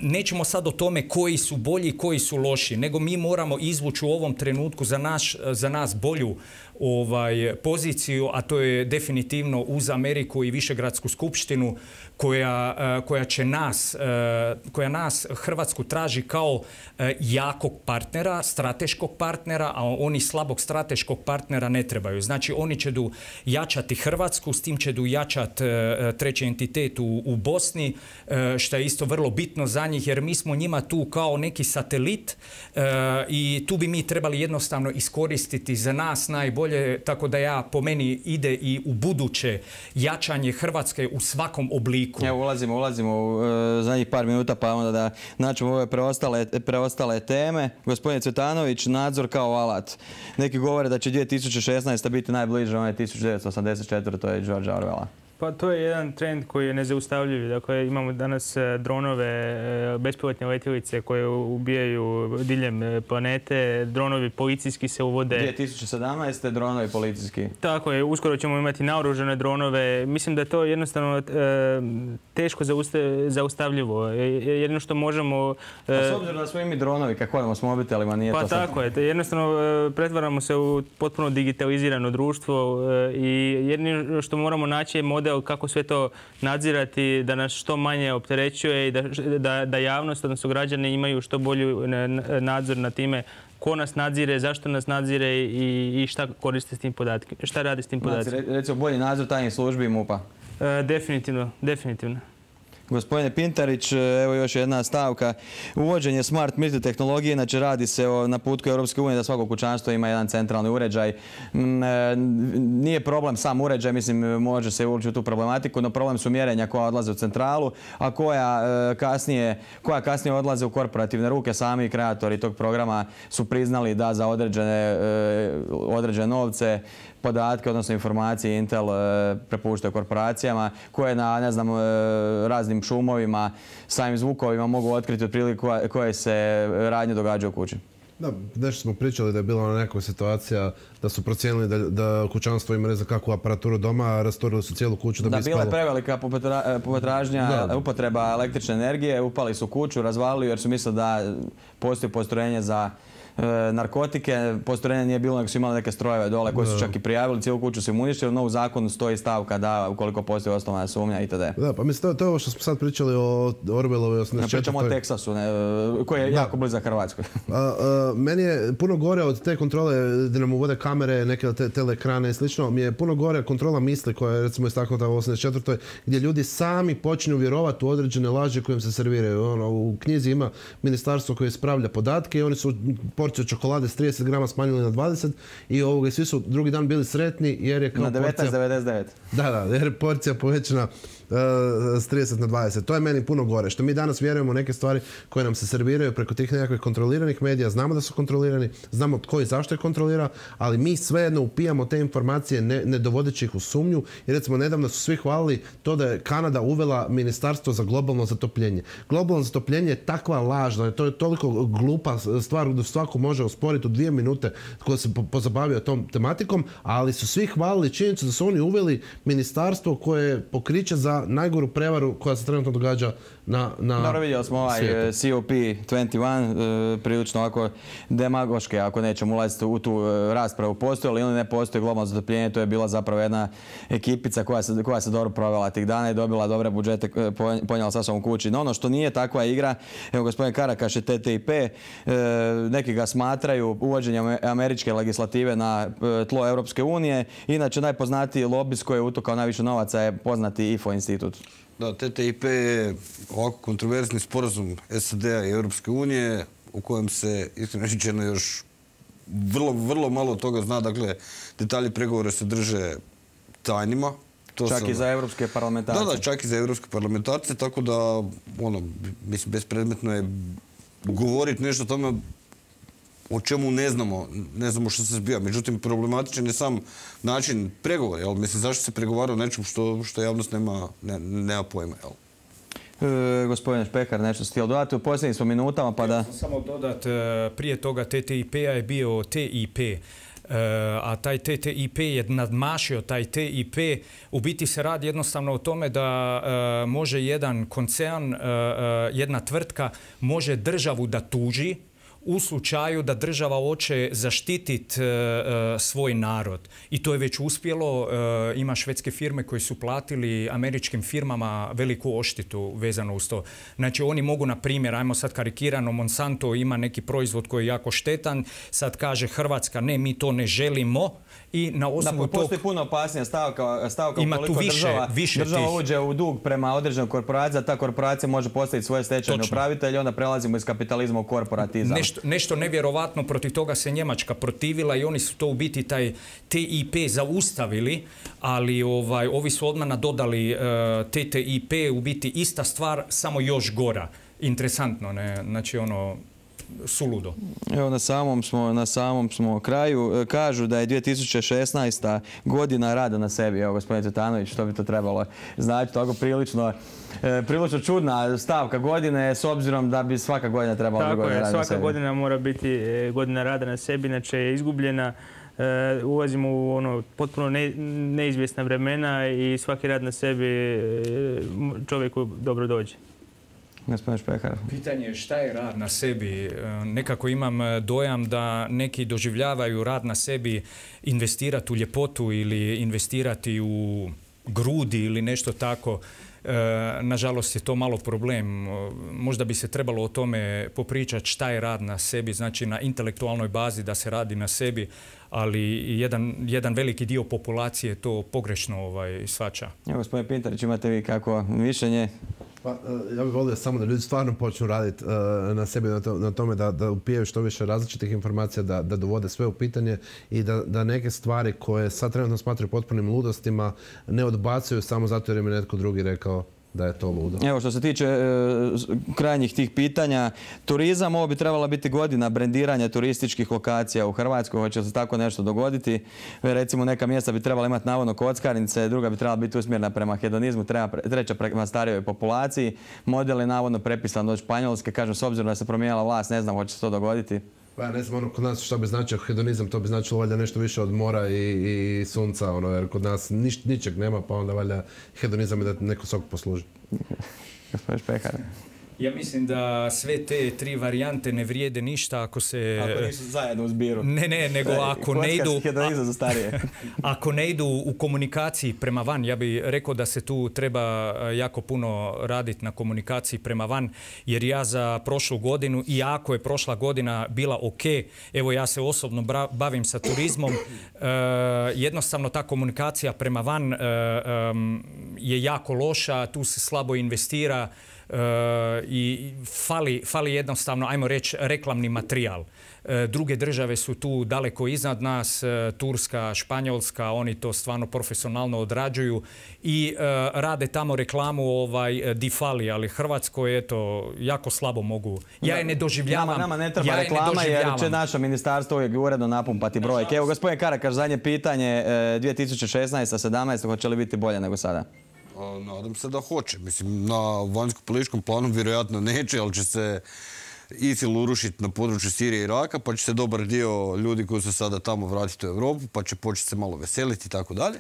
nećemo sad o tome koji su bolji, koji su loši, nego mi moramo izvući u ovom trenutku za, naš, za nas bolju ovaj, poziciju, a to je definitivno uz Ameriku i Višegradsku skupštinu koja, koja će nas, koja nas Hrvatsku traži kao jakog partnera, strateškog partnera, a oni slabog strateškog partnera ne trebaju. Znači oni će du jačati Hrvatsku, s tim će du jačati treći entitet u, u Bosni, što je isto vrlo bitno za njih, jer mi smo njima tu kao neki satelit i tu bi mi trebali jednostavno iskoristiti za nas najbolje, tako da ja po meni ide i u buduće jačanje Hrvatske u svakom obliku. Evo, ulazimo, ulazimo u e, zadnjih par minuta, pa onda da naćemo ove preostale, preostale teme. Gospodin Cvetanović, nadzor kao alat. Neki govore da će dvije tisuće šesnaesta biti najbliže onaj tisuću devetsto osamdeset četvrte. To je George Orwella. Pa to je jedan trend koji je nezaustavljiv. Dakle, imamo danas dronove, bespilotne letjelice koje ubijaju diljem planete. Dronovi policijski se uvode. dvije tisuće sedamnaeste. dronovi policijski. Tako je, uskoro ćemo imati naoružane dronove. Mislim da je to jednostavno e, teško zaustavljivo. Jedino što možemo... E, A s obzirom da smo i mi dronovi, kako hodamo s mobitelima, nije pa to sad... tako je. Jednostavno e, pretvaramo se u potpuno digitalizirano društvo e, i jedino što moramo naći je model kako sve to nadzirati, da nas što manje opterećuje i da, da, da javnost, odnosno građani, imaju što bolji nadzor na time ko nas nadzire, zašto nas nadzire i, i šta koriste s tim podatke, šta radi s tim podacima. Znači, recimo bolji nadzor tajnih službi i MUP-a. E, definitivno, definitivno. Gospodine Pintarić, evo još jedna stavka. Uvođenje smart meter tehnologije, znači radi se o naputku Europske unije da svako kućanstvo ima jedan centralni uređaj. Nije problem sam uređaj, mislim, može se ući u tu problematiku, no problem su mjerenja koja odlaze u centralu, a koja kasnije, koja kasnije odlaze u korporativne ruke. Sami kreatori tog programa su priznali da za određene, određene novce podatke, odnosno informacije Intel prepuštaju korporacijama koje na, ne znam, raznim šumovima, samim zvukovima mogu otkriti otprilike koje se radnje događaju u kući. Da, nešto smo pričali da je bila ona neka situacija da su procijenili da, da kućanstvo ima ne znam kakvu aparaturu doma, a rasturili su cijelu kuću da bi Da, ispalo. bila je prevelika potražnja, upotreba električne energije, upali su kuću, razvalili jer su mislili da postoji postrojenje za narkotike. Postrojenja nije bilo, nego su imali neke strojeve dole koji su čak i prijavili, cijelu kuću su im uništili, no u zakonu stoji stavka da ukoliko postoji osnovana sumnja itd. Da, pa mislim, to, to je ovo što smo sad pričali o Orwellovoj osamdeset četvrtoj. Pričamo o Teksasu, ne, koji je da. jako blizak Hrvatskoj. A, a, meni je puno gore od te kontrole gdje nam uvode kamere, neke te, teleekrane i slično, mi je puno gore kontrola misli koja je recimo istaknuta u osamdeset četvrtoj gdje ljudi sami počinju vjerovati u određene laži kojim se serviraju. Ono, u knjizi ima ministarstvo koje ispravlja podatke i oni su porciju čokolade s trideset grama smanjili na dvadeset i ovoga, svi su drugi dan bili sretni jer je kao na devetnaest porcija... devedeset devet. Da, da, jer je porcija povećana uh, s trideset na dvadeset. To je meni puno gore. Što mi danas vjerujemo u neke stvari koje nam se serviraju preko tih nekakvih kontroliranih medija. Znamo da su kontrolirani, znamo tko i zašto je kontrolira, ali mi svejedno upijamo te informacije ne, ne dovodeći ih u sumnju. I recimo, nedavno su svi hvalili to da je Kanada uvela ministarstvo za globalno zatopljenje. Globalno zatopljenje je takva laž, da je to je toliko glupa stvar da svako može osporiti u dvije minute ko se pozabavio tom tematikom, ali su svi hvalili činjenicu da su oni uveli ministarstvo koje je pokriće za najgoru prevaru koja se trenutno događa na, na Dobro, vidjeli smo ovaj svijetu. C O P dvadeset jedan, prilično ovako demagoške, ako nećemo ulaziti u tu raspravu, postoji li ili ne postoji globalno zatopljenje, to je bila zapravo jedna ekipica koja se, koja se dobro provela tih dana i dobila dobre budžete, ponijela sa sobom kući. No ono što nije takva igra, evo gospodin Karakaš je T T I P, neki ga smatraju uvođenjem američke legislative na tlo Europske unije. Inače, najpoznatiji lobist koji je utukao najviše novaca je poznati I F O institut. Da, T T I P je ovako kontroverzni sporazum S A D-a i Europske unije u kojem se, iskreno rečeno, još vrlo, vrlo malo toga zna. Dakle, detalji pregovora se drže tajnima. To čak sam... i za evropske parlamentarce. Da, da, čak i za evropske parlamentarce, tako da, ono, mislim, bespredmetno je govoriti nešto o tome o čemu ne znamo, ne znamo što se zbija. Međutim, problematičan je sam način pregovora, jel? Mislim, zašto se pregovara o nečem što, što javnost nema, ne, nema pojma, jel? E, gospodine Špehar, nešto ste htjeli dodati u posljednjim smo minutama, pa da... Samo dodat, prije toga T T I P-a je bio T I P. A taj T T I P je nadmašio taj T I P. U biti se radi jednostavno o tome da može jedan koncern, jedna tvrtka može državu da tuži u slučaju da država hoće zaštititi svoj narod. I to je već uspjelo. Ima švedske firme koje su platili američkim firmama veliku odštetu vezano uz to. Znači oni mogu, na primjer, ajmo sad karikirano, Monsanto ima neki proizvod koji je jako štetan, sad kaže Hrvatska ne, mi to ne želimo. I na osnovu da, postoji tog... puno opasnija stavka, stavka ima ukoliko tu više, država, više država tih. uđe u dug prema određenoj korporaciji, a ta korporacija može postaviti svoje stečajne upravitelje i onda prelazimo iz kapitalizma u korporatizam. Nešto, nešto nevjerovatno, protiv toga se Njemačka protivila i oni su to u biti taj T I P zaustavili, ali ovaj, ovi su odmah nadodali uh, T T I P, u biti ista stvar, samo još gora. Interesantno, ne? Znači ono... suludo. Evo na samom smo, na samom smo kraju. Kažu da je dvije tisuće šesnaesta godina rada na sebi. Evo, gospodin Cvetanović, što bi to trebalo znači? Tako prilično, e, prilično čudna stavka godine, s obzirom da bi svaka godina trebala biti godina rada na sebi. Svaka godina mora biti godina rada na sebi, inače je izgubljena. E, ulazimo u ono potpuno ne, neizvjesna vremena i svaki rad na sebi čovjeku dobro dođe. Gospodin Špehar. Pitanje je šta je rad na sebi. Nekako imam dojam da neki doživljavaju rad na sebi investirati u ljepotu ili investirati u grudi ili nešto tako. Nažalost je to malo problem. Možda bi se trebalo o tome popričati šta je rad na sebi, znači na intelektualnoj bazi da se radi na sebi, ali jedan, jedan veliki dio populacije to pogrešno ovaj, shvaća. Evo, gospodin Pintarić, imate vi kako mišljenje? Pa, ja bih volio samo da ljudi stvarno počnu raditi uh, na sebi, na, to, na tome da, da upijaju što više različitih informacija, da, da dovode sve u pitanje i da, da neke stvari koje sad trenutno smatraju potpunim ludostima ne odbacuju samo zato jer im je netko drugi rekao da je to ludo. Evo, što se tiče e, krajnjih tih pitanja, turizam, ovo bi trebala biti godina brendiranja turističkih lokacija u Hrvatskoj. Hoće se tako nešto dogoditi? Recimo, neka mjesta bi trebala imati navodno kockarnice, druga bi trebala biti usmjerena prema hedonizmu, treba, treća prema starijoj populaciji. Model je navodno prepisan od Španjolske. Kažem, s obzirom da se promijenila vlast, ne znam hoće se to dogoditi. Pa ne znam, ono, kod nas što bi značio hedonizam, to bi značilo valjda nešto više od mora i, i sunca, ono, jer kod nas nič, ničeg nema, pa onda valjda hedonizam je da neko sok posluži. Gospodin Špehar. Ja mislim da sve te tri varijante ne vrijede ništa ako se... Ako nisu zajedno u zbiru. Ne, ne, nego ako ne idu... za starije. Ako ne idu u komunikaciji prema van, ja bih rekao da se tu treba jako puno raditi na komunikaciji prema van, jer ja za prošlu godinu, iako je prošla godina bila ok, evo ja se osobno bavim sa turizmom, jednostavno ta komunikacija prema van je jako loša, tu se slabo investira. i fali, fali jednostavno, ajmo reći, reklamni materijal. Druge države su tu daleko iznad nas, Turska, Španjolska, oni to stvarno profesionalno odrađuju i rade tamo reklamu ovaj, di fali, ali Hrvatskoj eto, jako slabo mogu. Ja je ne doživljavam. Nama, nama ne treba ja reklama ne jer će naše ministarstvo uvijek uredno napumpati brojke. Evo, gospodin Karakaš, zadnje pitanje, dvije tisuće šesnaesta sedamnaesta hoće li biti bolje nego sada? Nadam se da hoće. Mislim, na vanjsko-političkom planu vjerojatno neće, ali će se ISIL urušiti na području Sirije i Iraka, pa će se dobar dio ljudi koji su sada tamo vratiti u Europu, pa će početi se malo veseliti i tako dalje.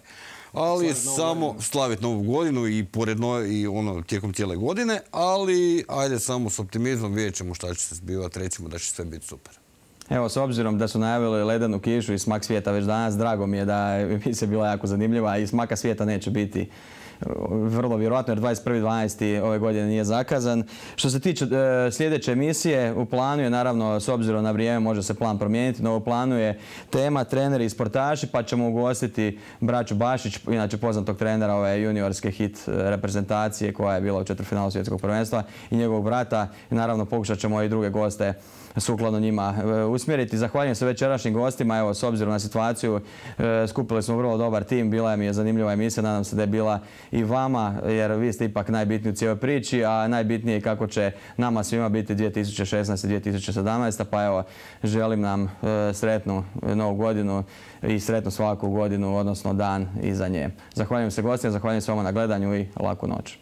Ali samo slaviti novu godinu i poredno i ono tijekom cijele godine, ali ajde samo s optimizmom vidjet ćemo šta će se zbivati, recimo da će sve biti super. Evo, s obzirom da su najavili ledenu kišu i smak svijeta već danas, drago mi je da emisija bila jako zanimljiva i smaka svijeta neće biti vrlo vjerojatno jer dvadeset prvi dvanaesti ove godine nije zakazan. Što se tiče e, sljedeće emisije, u planu je naravno, s obzirom na vrijeme može se plan promijeniti, no u planu je tema treneri i sportaši, pa ćemo ugostiti braću Bašić, inače poznatog trenera ove juniorske hit reprezentacije koja je bila u četvrtfinalu svjetskog prvenstva i njegovog brata. I naravno pokušat ćemo i druge goste sukladno njima usmjeriti. Zahvaljujem se večerašnjim gostima. Evo, s obzirom na situaciju, skupili smo vrlo dobar tim. Bila mi je zanimljiva emisija. Nadam se da je bila i vama, jer vi ste ipak najbitniji u cijeloj priči, a najbitnije je kako će nama svima biti dvije tisuće šesnaesta. dvije tisuće sedamnaesta. Pa evo, želim nam sretnu novu godinu i sretnu svaku godinu, odnosno dan iza nje. Zahvaljujem se gostima, zahvaljujem se vama na gledanju i laku noć.